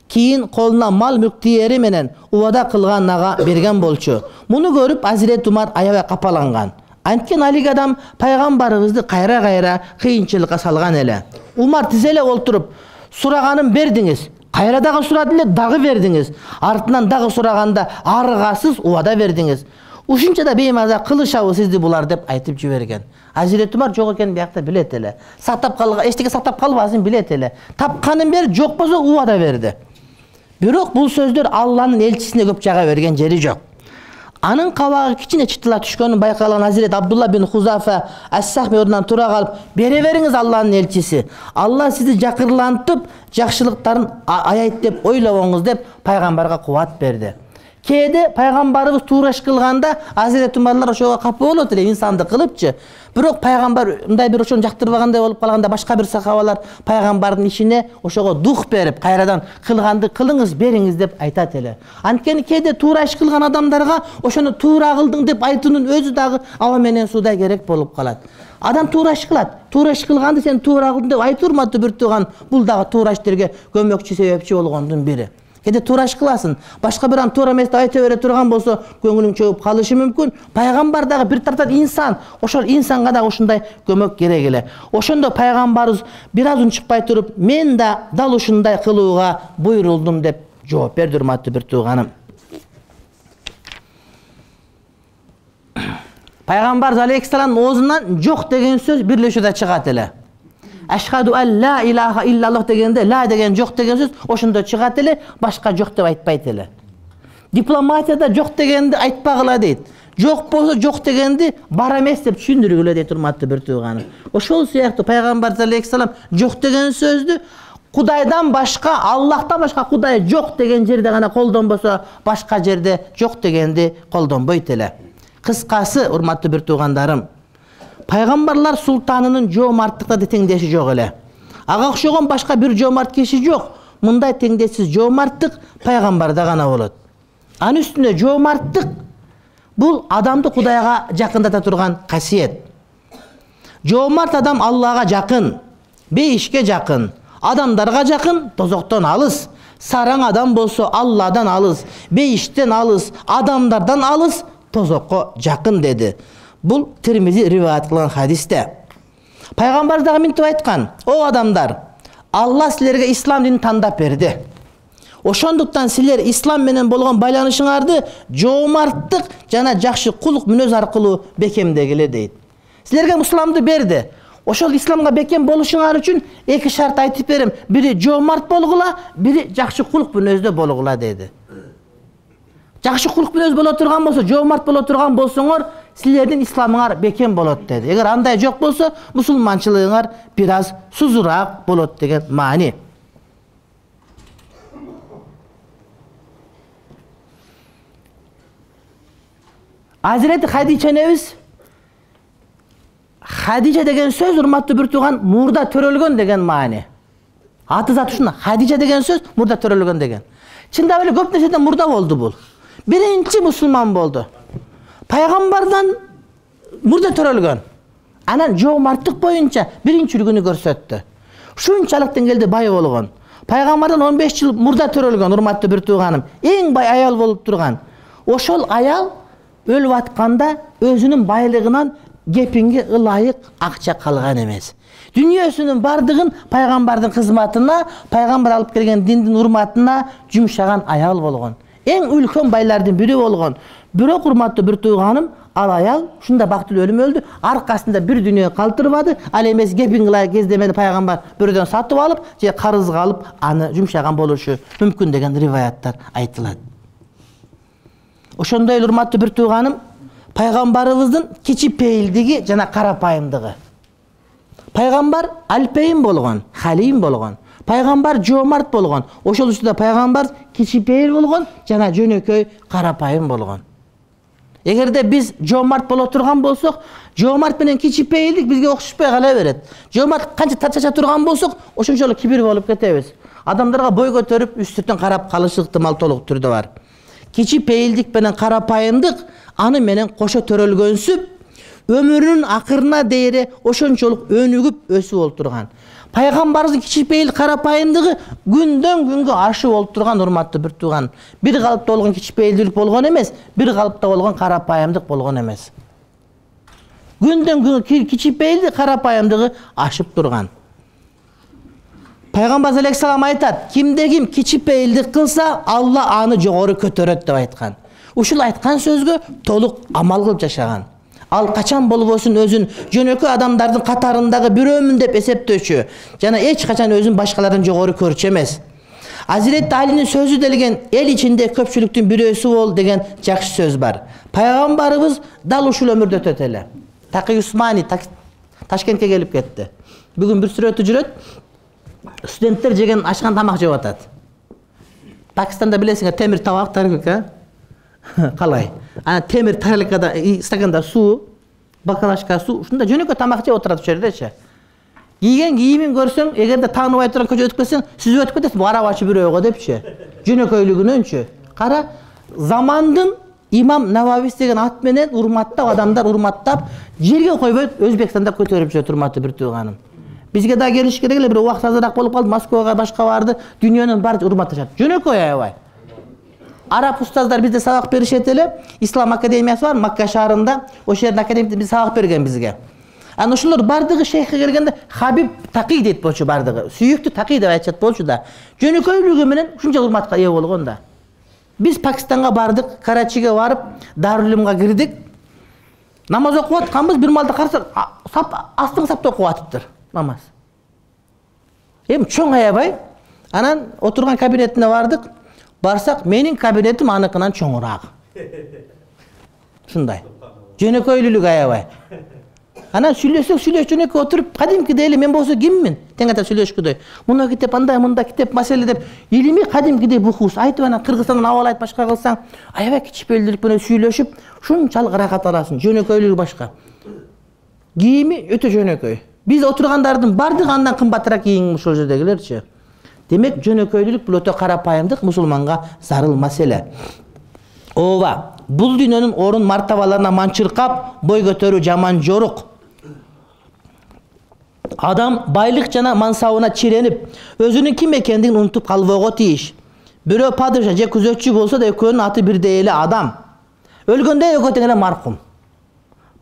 Кийин колуна мал мүлк тиери менен убада кылган ага берген болчу. Муну көрүп Азирет Умар аябай капаланган. Анткени алик адам пайгамбарыбызды кайра-кайра кыйынчылыкка салган эле. Умар тизеле олтуруп, сураганын бердиңиз, кайра дагы сурады эле, дагы бердиңиз. Артынан дагы сураганда аргасыз убада бердиңиз. Ушунча да беймаза кылышабы сизди булар деп айтып жиберген. Азирет Умар жок экенин биякта билет эле. Сактап калган, эчтеке сактап калбасын билет эле. Тапканын бер, жок болсо убада берди. Бирок бул сөздөр Алланын элчисине көп жага берген жери жок. Анын кабагы кичине чытыла түшкөнүн байкалган Азирет Абдулла бин Хузафа Ас-Сахми ордунан тура калып, бере бериңиз Алланын элчиси. Алла сизди жакырлантып, жакшылыктарын аят деп ойлобоңуз деп пайгамбарга кубат берди. Кээде пайгамбарыбыз туура иш кылганда Азирет Умарлар ошого капа болот эле, инсанды кылыпчы. Бирок пайгамбар мындай бир ошону жактырбагандай болуп калганда башка бир сахабалар пайгамбардын ишине ошого дух берип, кайрадан кылганды кылыңыз, бериңиз деп айтат эле. Анткени кээде туура иш кылган адамдарга ошону туура кылдың деп айтуунун өзү дагы аба менен суудай керек болуп калат. Адам туура иш кылат. Туура иш кылганды сен туура кылдың деп айтуу, урматтуу бир тууган, бул дагы туура иштерге көмөкчү, себепчи болгондун бири. Кээде туура иш кыласың, башка бир ан туура эмес деп айта бере турган болсо, көңүлүң чөгүп калышы мүмкүн. Пайгамбар дагы бир тараптан инсан, ошол инсанга дагы ушундай көмөк керек эле. Ошондо пайгамбарыбыз бир аз унчукпай туруп, мен да дал ушундай кылууга буйрулдум деп жооп берди, урматтуу бир тууганым. Пайгамбар алейхиссаламдын оозунан жок деген сөз бирлешүүдө чыгат эле. Ашхаду ан ла илаха иллаллах дегенде, ла деген жок деген сөз ошондо чыгат эле, башка жок деп айтпайт эле. Дипломатияда жок дегенди айтпагыла дейт. Жок болсо жок дегенди бар эмес деп түшүндүргүлө дейт, урматтуу бир тууганым. Ошол сыяктуу пайгамбар алейхиссалам жок деген сөздү Кудайдан башка, Аллахтан башка Кудай жок деген жерде гана колдонбосо, башка жерде жок дегенди колдонбойт эле. Кыскасы, урматтуу бир туугандарым, пайгамбарлар султанынын жоомарттыкта да теңдеши жок эле. Ага окшогон башка бир жоомарт киши жок. Мындай теңдешсиз жоомарттык пайгамбарда гана болот. Анын үстүнө жоомарттык бул адамды Кудайга жакындата турган касиет. Жоомарт адам Аллага жакын, бейишке жакын, адамдарга жакын, тозоктон алыс. Сараң адам болсо Алладан алыс, бейиштен алыс, адамдардан алыс, тозокко жакын деди. Бул Тирмизи риваят кылган хадисте. Пайгамбар дагы мынтип айткан: "О адамдар, Алла силерге ислам динин тандап берди. Ошондуктан силер ислам менен болгон байланышыңарды жоомарттык жана жакшы кулук мүнөз аркылуу бекемдегиле" дейт. Силерге мусуламды берди. Ошол исламга бекем болушуңар үчүн эки шарт айтып берем. Бири жоомарт болгула, бири жакшы кулк мүнөздө болгула деди. Жакшы кулк мүнөз боло турган болсо, жоомарт боло турган болсоңор, силердин исламыңар бекем болот деди. Эгер андай жок болсо, мусулманчылыгыңар бир аз сузураак болот деген маани. Азирети Хадича энебиз, Хадича деген сөз урматтуу бир тууган мурда төрөлгөн деген маани. Аты заты ушуна, Хадича деген сөз мурда төрөлгөн деген. Чындап эле көп нерседен мурда болду бул. Биринчи мусулман болду. Пайгамбардан мурда төрөлгөн. Анан жоомарттык боюнча биринчилигин көрсөттү. Ушунчалык деңгээлде бай болгон. Пайгамбардан он беш жыл мурда төрөлгөн урматтуу бир тууганым. Эң бай аял болуп турган. Ошол аял өлүп атканда өзүнүн байлыгынан кепинге ылайык акча калган эмес. Дүйнөсүнүн бардыгын пайгамбардын кызматына, пайгамбар алып келген диндин урматына жумшаган аял болгон. Эң үлкөн байлардын бири болгон. Бирок урматтуу бир тууганым, ал аял ушунда бактылуу өлүм өлдү, аркасында бир дүйнө калтырбады, ал эмес кепингилай кездемени пайгамбар бирөөдөн сатып алып, же карызга алып аны жумшаган болушу мүмкүн деген риваяттар айтылат. Ошондой эле урматтуу бир тууганым, пайгамбарыбыздын кичипейилдиги жана карапайымдыгы. Пайгамбар алпейим болгон, халим болгон. Пайгамбар жоомарт болгон. Ошол учурда пайгамбар кичипейил болгон жана жөнөкөй карапайым болгон. Эгерде биз жоомарт боло турган болсок, жоомарт менен кичипейилдик бизге окшошпой кала берет. Жоомарт канча тачача турган болсок, ошончолук кибир болуп кетебиз. Адамдарга бой көтөрүп, үстүртөн карап калыш ыктымал толук түрдө бар. Кичипейилдик менен карапайымдык аны менен кошо төрөлгөнсүп, өмүрүнүн акырына дейре ошончолук өнүгүп өсүп болуп турган. Пайгамбарыбыздын кичипейил карапайымдыгы күндөн күнгө ашып болуп турган урматтуу бир тууган. Бир калыпта болгон кичипейилдик болгон эмес, бир калыпта болгон карапайымдык болгон эмес. Күндөн күнгө кичипейилдик карапайымдыгы ашып турган. Пайгамбар алейхиссалам айтат, кимде ким кичипейилдик кылса, Алла аны жогору көтөрөт деп айткан. Ушул айткан сөзгө толук амал кылып жашаган. Ал качан болбосун өзүн жөнөкөй адамдардын катарындагы бирөөмүн деп эсептөөчү, жана эч качан өзүн башкалардан жогору көрчү эмес. Азирет Алинин сөзү делген эл ичинде көпчүлүктүн бирөөсү бол деген жакшы сөз бар. Пайгамбарыбыз дал ушул өмүрдө өтөт эле. Такый Усмани Ташкентке келип кетти. Бүгүн бир сүрөтү жүрөт. Студенттер жеген ашкан тамак жеп атат. Пакистанда билесиңер, темир табак тарелка. Калай. Ана темир тарелкада стаканда суу, бакалашка суу, ушунда жөнөкөй тамак жеп отурат ошол жердечи. Кийген кийимин көрсөң, эгерде тааныбай турган көчө өтүп кетсең, сүзүп өтүп кетесиң, арабачы бирөөгө депчи. Жөнөкөйлүгүнөнчү. Кара, замандын Имам Нававис деген ат менен урматтап адамдар урматтап, жерге койбой Өзбекстанда көтөрүп жүрөт урматтуу бир тууганым. Бизге да келиш керек эле, бир убакыт азыраак болуп калды, Москвага башка барды, дүйнөнүн баары урматташат. Жөнөкөй аябай. Араб устаздар бизде сабак беришет эле, Ислам академиясы бар Макка шаарында, ошол жердин академиясында биз сабак берген бизге. Ана ошолор бардыгы шейхке келгенде Хабиб Такий дейт болчу бардыгы. Сүйүктүү Такий деп айтышат болчу да. Жөнөкөйлүгү менен ушунча урматка ээ болгон да. Биз Пакистанга бардык, Карачиге барып, Дарулимга кирдик. Намаз окуп атканбыз, бир малда карасак, сап астыңы сапта окуп атыптыр намаз. Эми чоң аябай. Анан отурган кабинетине бардык. Барсак, менин кабинетим аныкынан чоңураак. Ушундай. Жөнөкөйлүлүк аябай. Анан сүйлөсөк, сүйлөш жөнөкөй отуруп, кадимкидей эле мен болсо киммин? Тең ата сүйлөшкүдөй. Муну китеп андай, мында китеп маселе деп, илимий кадимкидей бухус айтып анан Кыргызстандан абал айтып башка кылсаң, аябай кичипейилдик менен сүйлөшүп, ушунчалык ырахат аласың. Жөнөкөйлүгү башка. Кийими өтө жөнөкөй. Биз отургандардын бардыгы андан кымбатыраак кийин ушул жердегилерчи. Демек, жөнөкөйлүк бул өтө карапайымдык мусулманга зарыл маселе. Ооба, бул дүйнөнүн орун мартабаларына манчыркап, бой көтөрүү жаман жорук. Адам байлык жана мансабына чиренип, өзүнүн ким экендигин унутуп калбоого тийиш. Бирөө падыша же күзөтчү болсо да экөөнүн аты бирдей эле адам. Өлгөндө экөө тең эле маркум.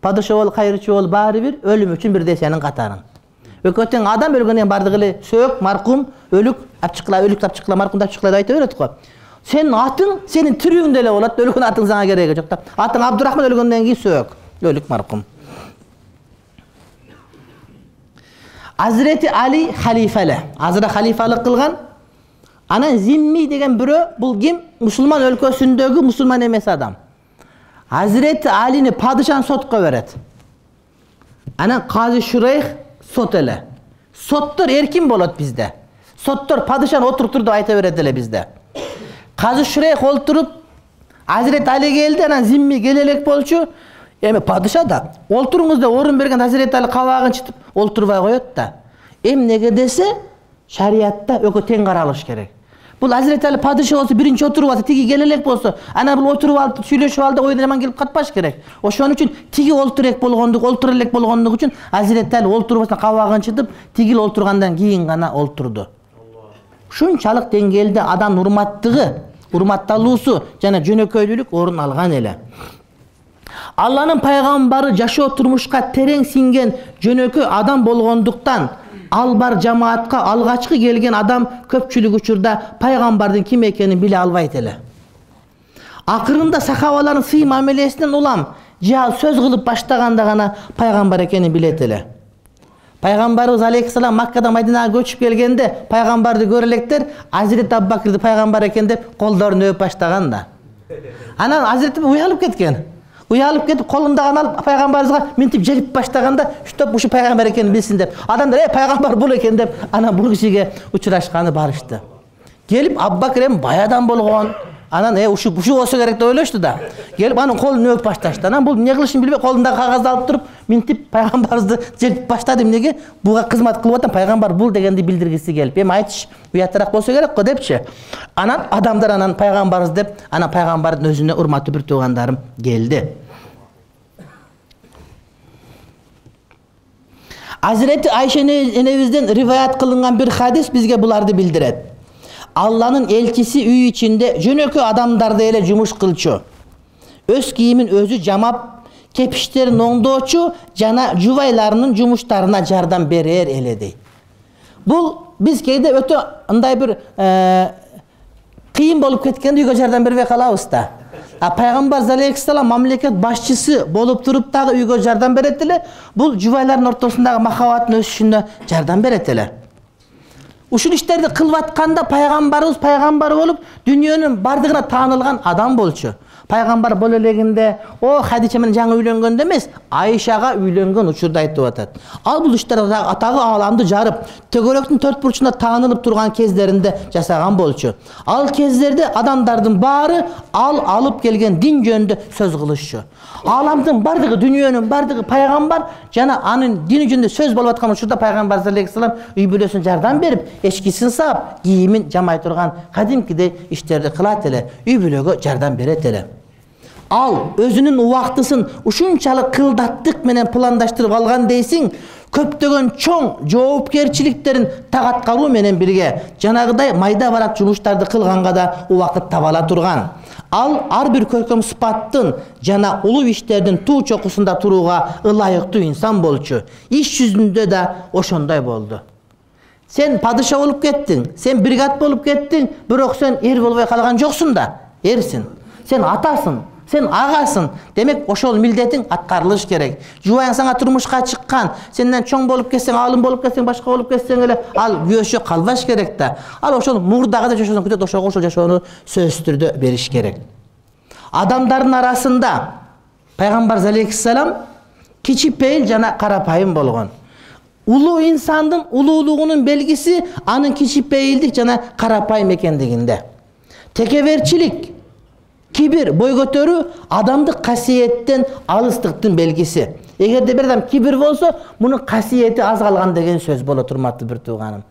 Падыша бол, кайрычы бол, баары бир өлүм үчүн бирдей сенин катарың. Экөө тең адам, өлгөндөн бардыгы эле сөөк, маркум, өлүк, апчыкла, өлүк апчыкла, маркум апчыкла деп айта берет го. Сенин атың сенин тирүүңдө эле болот, өлгөн атың сага кереги жок да. Атың Абдурахман, өлгөндөн кийин сөөк, өлүк, маркум. Азирети Али халифа эле. Азыра халифалык кылган. Анан Зимми деген бирөө, бул ким? Мусулман өлкөсүндөгү мусулман эмес адам. Азирети Алини падышаны сотко берет. Анан Казы Шурейх сот эле. Соттор эркин болот бизде. Соттор падышаны отуруптур деп айта берет эле бизде. Казы Шурейх олтуруп, Азирети Али келди, анан Зимми келе элек болчу. Эми падыша да олтуруңуз деп орун берген Азирети Али кабагын чытып олтурбай коет да. Эмнеге десе, шариатта экөө тең каралыш керек. Бул Азирети Али падыша болсо, биринчи отуруп алса, тиги келе элек болсо, анан бул отуруп алып сүйлөшүп алды, ойдон аман келип катпаш керек. Ошон үчүн тиги олтурек болгондук, олтура элек болгондук үчүн Азирети Али олтурбастан кабагын чытып, тигил олтургандан кийин гана олтурду. Ушунчалык деңгээлде адам урматтыгы, урматталуусу жана жөнөкөйлүк орун алган эле. Алланын пайгамбары жашоо турмушка терең сиңген жөнөкөй адам болгондуктан ал бар жамаатка алгачкы келген адам көпчүлүк учурда пайгамбардын ким экенин биле албайт эле. Акырында сахабалардын сый мамилесинен улам жал сөз кылып баштаганда гана пайгамбар экенин билет эле. Пайгамбарыбыз алейхиссалам Маккадан Мадинага көчүп келгенде пайгамбарды көрө электер Азирет Абубакырды пайгамбар экен деп колдорун өп баштаган да. Анан Азирет уялып кеткен. Уялып кетип колундагын алып пайгамбарыбызга минтип желип баштаганда, "Штоп, ушу пайгамбар экенин билсин" деп. Адамдар "Э, пайгамбар бул экен" деп анан бул кишиге учурашканы барышты. Келип Абубакыр эми баядан болгон. Анан "Э, ушу ушу болсо керек" деп ойлошту да. Келип анын колун өп башташты. Анан бул эмне кылышын билбей колундагы кагазды алып туруп, минтип пайгамбарыбызды желип баштады. Эмнеге? Буга кызмат кылып атам, пайгамбар бул дегенди билдиргиси келип. Эми айтыш, уяттараак болсо керек го депчи. Анан адамдар анан пайгамбарыбыз деп, анан пайгамбардын өзүнө урматтуу бир туугандарым келди. Азирети Айша энебизден риваят кылынган бир хадис бизге буларды билдирет. Алланын элчиси үй ичинде жөнөкөй адамдарды эле жумуш кылчу. Өз кийимин өзү жамап, кепиштерин оңдоочу жана жубайларынын жумуштарына жардам берер эле дейт. Бул биз кээде өтө андай бир кыйын болуп кеткенде үйгө жардам бербей калабыз да. А пайгамбар алейхиссалам мамлекет башчысы болуп туруп дагы үйгө жардам берет эле. Бул жубайлардын ортосундагы махаббаттын өсүшүнө жардам берет эле. Ушул иштерди кылып атканда пайгамбарыбыз пайгамбар болуп, дүйнөнүн бардыгына таанылган адам болчу. Пайгамбар боло элегинде, о Хадича менен жаңы үйлөнгөндө эмес, Айшага үйлөнгөн учурда айтып атат. Ал бул иштер атагы ааламды жарып, төгөрөктүн төрт бурчунда таанылып турган кездеринде жасаган болчу. Ал кездерде адамдардын баары ал алып келген дин жөнүндө сөз кылышчу. Ааламдын бардыгы, дүйнөнүн бардыгы пайгамбар жана анын дини жөнүндө сөз болуп аткан учурда пайгамбар алейхиссалам үй бүлөсүнө жардам берип, эчкисин саап, кийимин жамай турган кадимкидей иштерди кылат эле, үй бүлөгө жардам берет эле. Ал өзүнүн убактысын ушунчалык кылдаттык менен пландаштырып алган дейсиң, көптөгөн чоң жоопкерчиликтерин так аткаруу менен бирге жанагыдай майда барак жумуштарды кылганга да убакыт таба ала турган. Ал ар бир көркөм сыпаттын жана улуу иштердин туу чокусунда турууга ылайыктуу инсан болчу. Иш жүзүндө да ошондой болду. Сен падыша болуп кеттиң, сен бригад болуп кеттиң, бирок сен эр болбой калган жоксуң да, эрсиң. Сен атасың, сен агасың. Демек, ошол милдетиң аткарылыш керек. Жубайың сага турмушка чыккан, сенден чоң болуп кетсең, алым болуп кетсең, башка болуп кетсең эле, ал күйөөшө калбаш керек да. Ал ошол мурдагы жашоосун күтөт, ошого ошол жашоону сөзсүз түрдө бериш керек. Адамдардын арасында пайгамбар алейхиссалам кичипейил жана карапайым болгон. Улуу инсандын улуулугунун белгиси анын кичипейилдик жана карапайым экендигинде. Текеберчилик, кибир, бой көтөрүү адамдык касиеттен алыстыктын белгиси. Эгерде бир адам кибир болсо, мунун касиети аз калган деген сөз болот, урматтуу бир тууганым.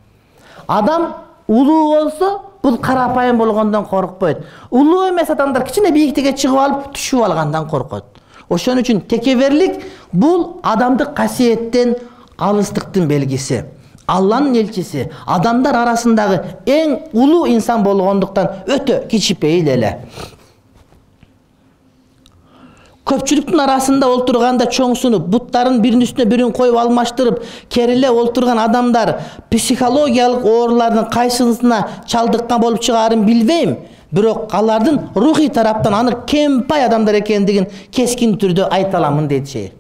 Адам улуу болсо, бул карапайым болгондон коркпойт. Улуу эмес адамдар кичине бийиктикке чыгып алып, түшүп алгандан коркот. Ошон үчүн текеберлик бул адамдык касиеттен алыстыктын белгиси. Алланын элчиси адамдар арасындагы эң улуу инсан болгондуктан өтө кичипейил эле. Көпчүлүктүн арасында олтурганда чоңсунуп, буттарын биринин үстүнө бирин коюп алмаштырып, кериле олтурган адамдар психологиялык оорулардын кайсысына чалдыккан болуп чыгаарын билбейм, бирок алардын рухий тараптан аны кемпай адамдар экендигин кескин түрдө айта аламын дейт шейх.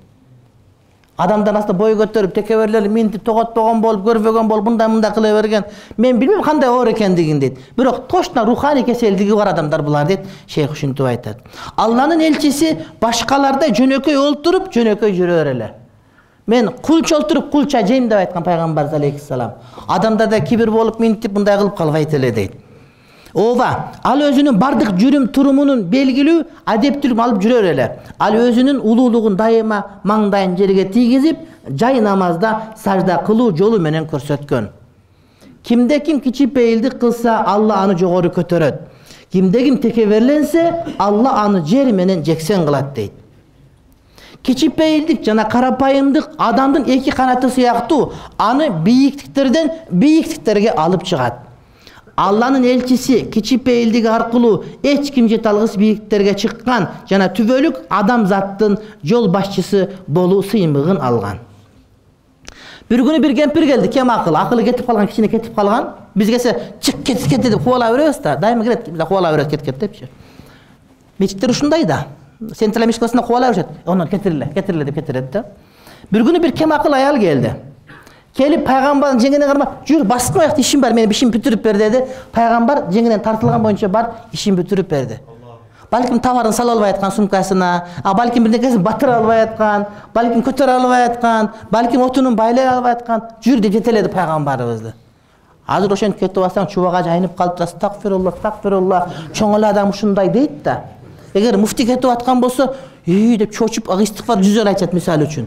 Адамдар аста бой көтөрүп, текеберлер минтип тоготпогон болуп, көрбөгөн болуп, мындай мындай кыла берген. Мен билбейм кандай оор экендигин дейт. Бирок точно руханий кеселдиги бар адамдар булар дейт. Шейх ушинтип айтат. Алланын элчиси башкалардай жөнөкөй олтуруп, жөнөкөй жүрөр эле. Мен кулча олтуруп, кулча жейм деп айткан пайгамбар алейхиссалам. Адамдарда кибир болуп, минтип мындай кылып калбайт эле дейт. Ооба, ал өзүнүн бардык жүрүм турумунун белгилүү адептүүлүгүн алып жүрөр эле. Ал өзүнүн улуулугун дайыма маңдайын жерге тийгизип, жай намазда сажда кылуу жолу менен көрсөткөн. Кимде ким кичипейилдик кылса, Алла аны жогору көтөрөт. Кимде ким текеберленсе, Алла аны жер менен жексен кылат дейт. Кичипейилдик жана карапайымдык адамдын эки канаты сыяктуу, аны бийиктиктерден бийиктиктерге алып чыгат. Алланын элчиси кичипейилдиги аркылуу эч ким жете алгыс бийиктиктерге чыккан жана түбөлүк адамзаттын жол башчысы болуу сыймыгын алган. Бир күнү бир кемпир келди, кем акыл, акылы кетип калган, кичине кетип калган. Биз келсе чык кет кет деп кубала беребиз да, дайыма келет, биз кубала беребиз кет кет депчи. Мечиттер ушундай да. Централдык мечиттерде кубала беришет. Онун кетириле, кетириле деп кетирет да. Бир күнү бир кем акыл аял келди. Келип пайгамбардын жеңине кармап, "Жүр, баскы аяк ишим бар, менин ишим бүтүрүп бер" деди. Пайгамбар жеңинен тартылган боюнча бар, ишин бүтүрүп берди. Балким товарын сала албай аткан сумкасына, а балким бир нерсесин батыра албай аткан, балким көтөрө албай аткан, балким отунун байлай албай аткан, "Жүр" деп жетеледи пайгамбарыбызды. Азыр ошентип кетип алсаң, чубага жайнып калып, "Астагфирулла, астагфирулла", чоң эле адам ушундай дейт да. Эгер муфти кетип аткан болсо, "Үй" деп чочуп, истигфар жүз жолу айтат мисалы үчүн.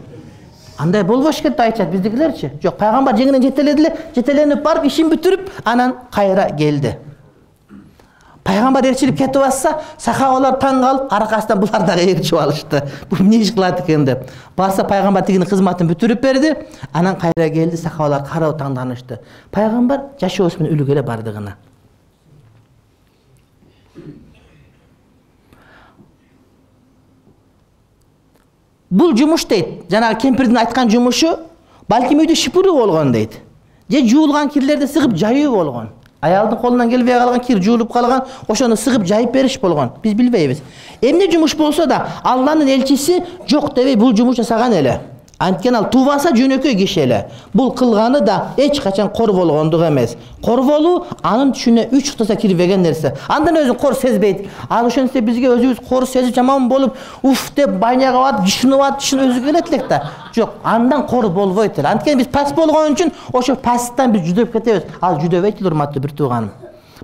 Андай болбош керек деп айтат биздикилерчи. Жок, пайгамбар жеңинен жетеледи эле, жетеленип барып ишин бүтүрүп, анан кайра келди. Пайгамбар ээрчилип кетип атса, сахабалар таң калып, аркасынан булар дагы ээрчип алышты. Бул эмне иш кылат экен деп. Барса пайгамбар тигинин кызматын бүтүрүп берди, анан кайра келди, сахабалар карап таңданышты. Пайгамбар жашоосу менен үлгү эле бардыгына. Бул жумуш дейт, жанагы кемпирдин айткан жумушу балким үйдө шипуруу болгон дейт. Же жуулган кирлерди сыгып жайуу болгон. Аялдын колунан келбей калган кир жуулуп калган, ошону сыгып жайып бериш болгон. Биз билбейбиз. Эмне жумуш болсо да, Алланын элчиси жок дебей бул жумуш жасаган эле. Анткени ал тубаса жөнөкөй киши эле. Бул кылганы да эч качан кор болгондук эмес. Кор болуу анын түшүнө үч кытаса кирбеген нерсе. Андан өзүн кор сезбейт. Ал ошентсе бизге өзүбүз кор сезип жаман болуп, уф деп байнага барып, жишинип атып, жишин өзү келет элек да. Жок, андан кор болбойт эле. Анткени биз пас болгон үчүн ошо пастан биз жүдөп кетебиз. Ал жүдөбөйт эле, урматтуу бир тууганым.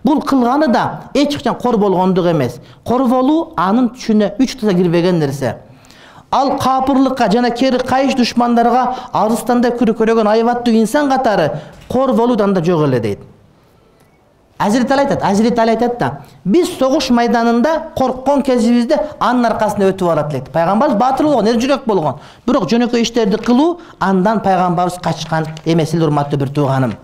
Бул кылганы да эч качан кор болгондук эмес. Кор болуу анын түшүнө үч кытаса кирбеген нерсе. Ал капырлыкка жана кери кайыш душмандарга арыстандай күркөрөгөн айбаттуу инсан катары кор болуудан да жок эле дейт. Азирет Али айтат, Азирет Али айтат да, биз согуш майданында корккон кезибизде анын аркасында өтүп алат элек. Пайгамбарыбыз баатыр болгон, эр жүрөк болгон. Бирок жөнөкөй иштерди кылуу андан пайгамбарыбыз качкан эмес эле, урматтуу бир тууганым.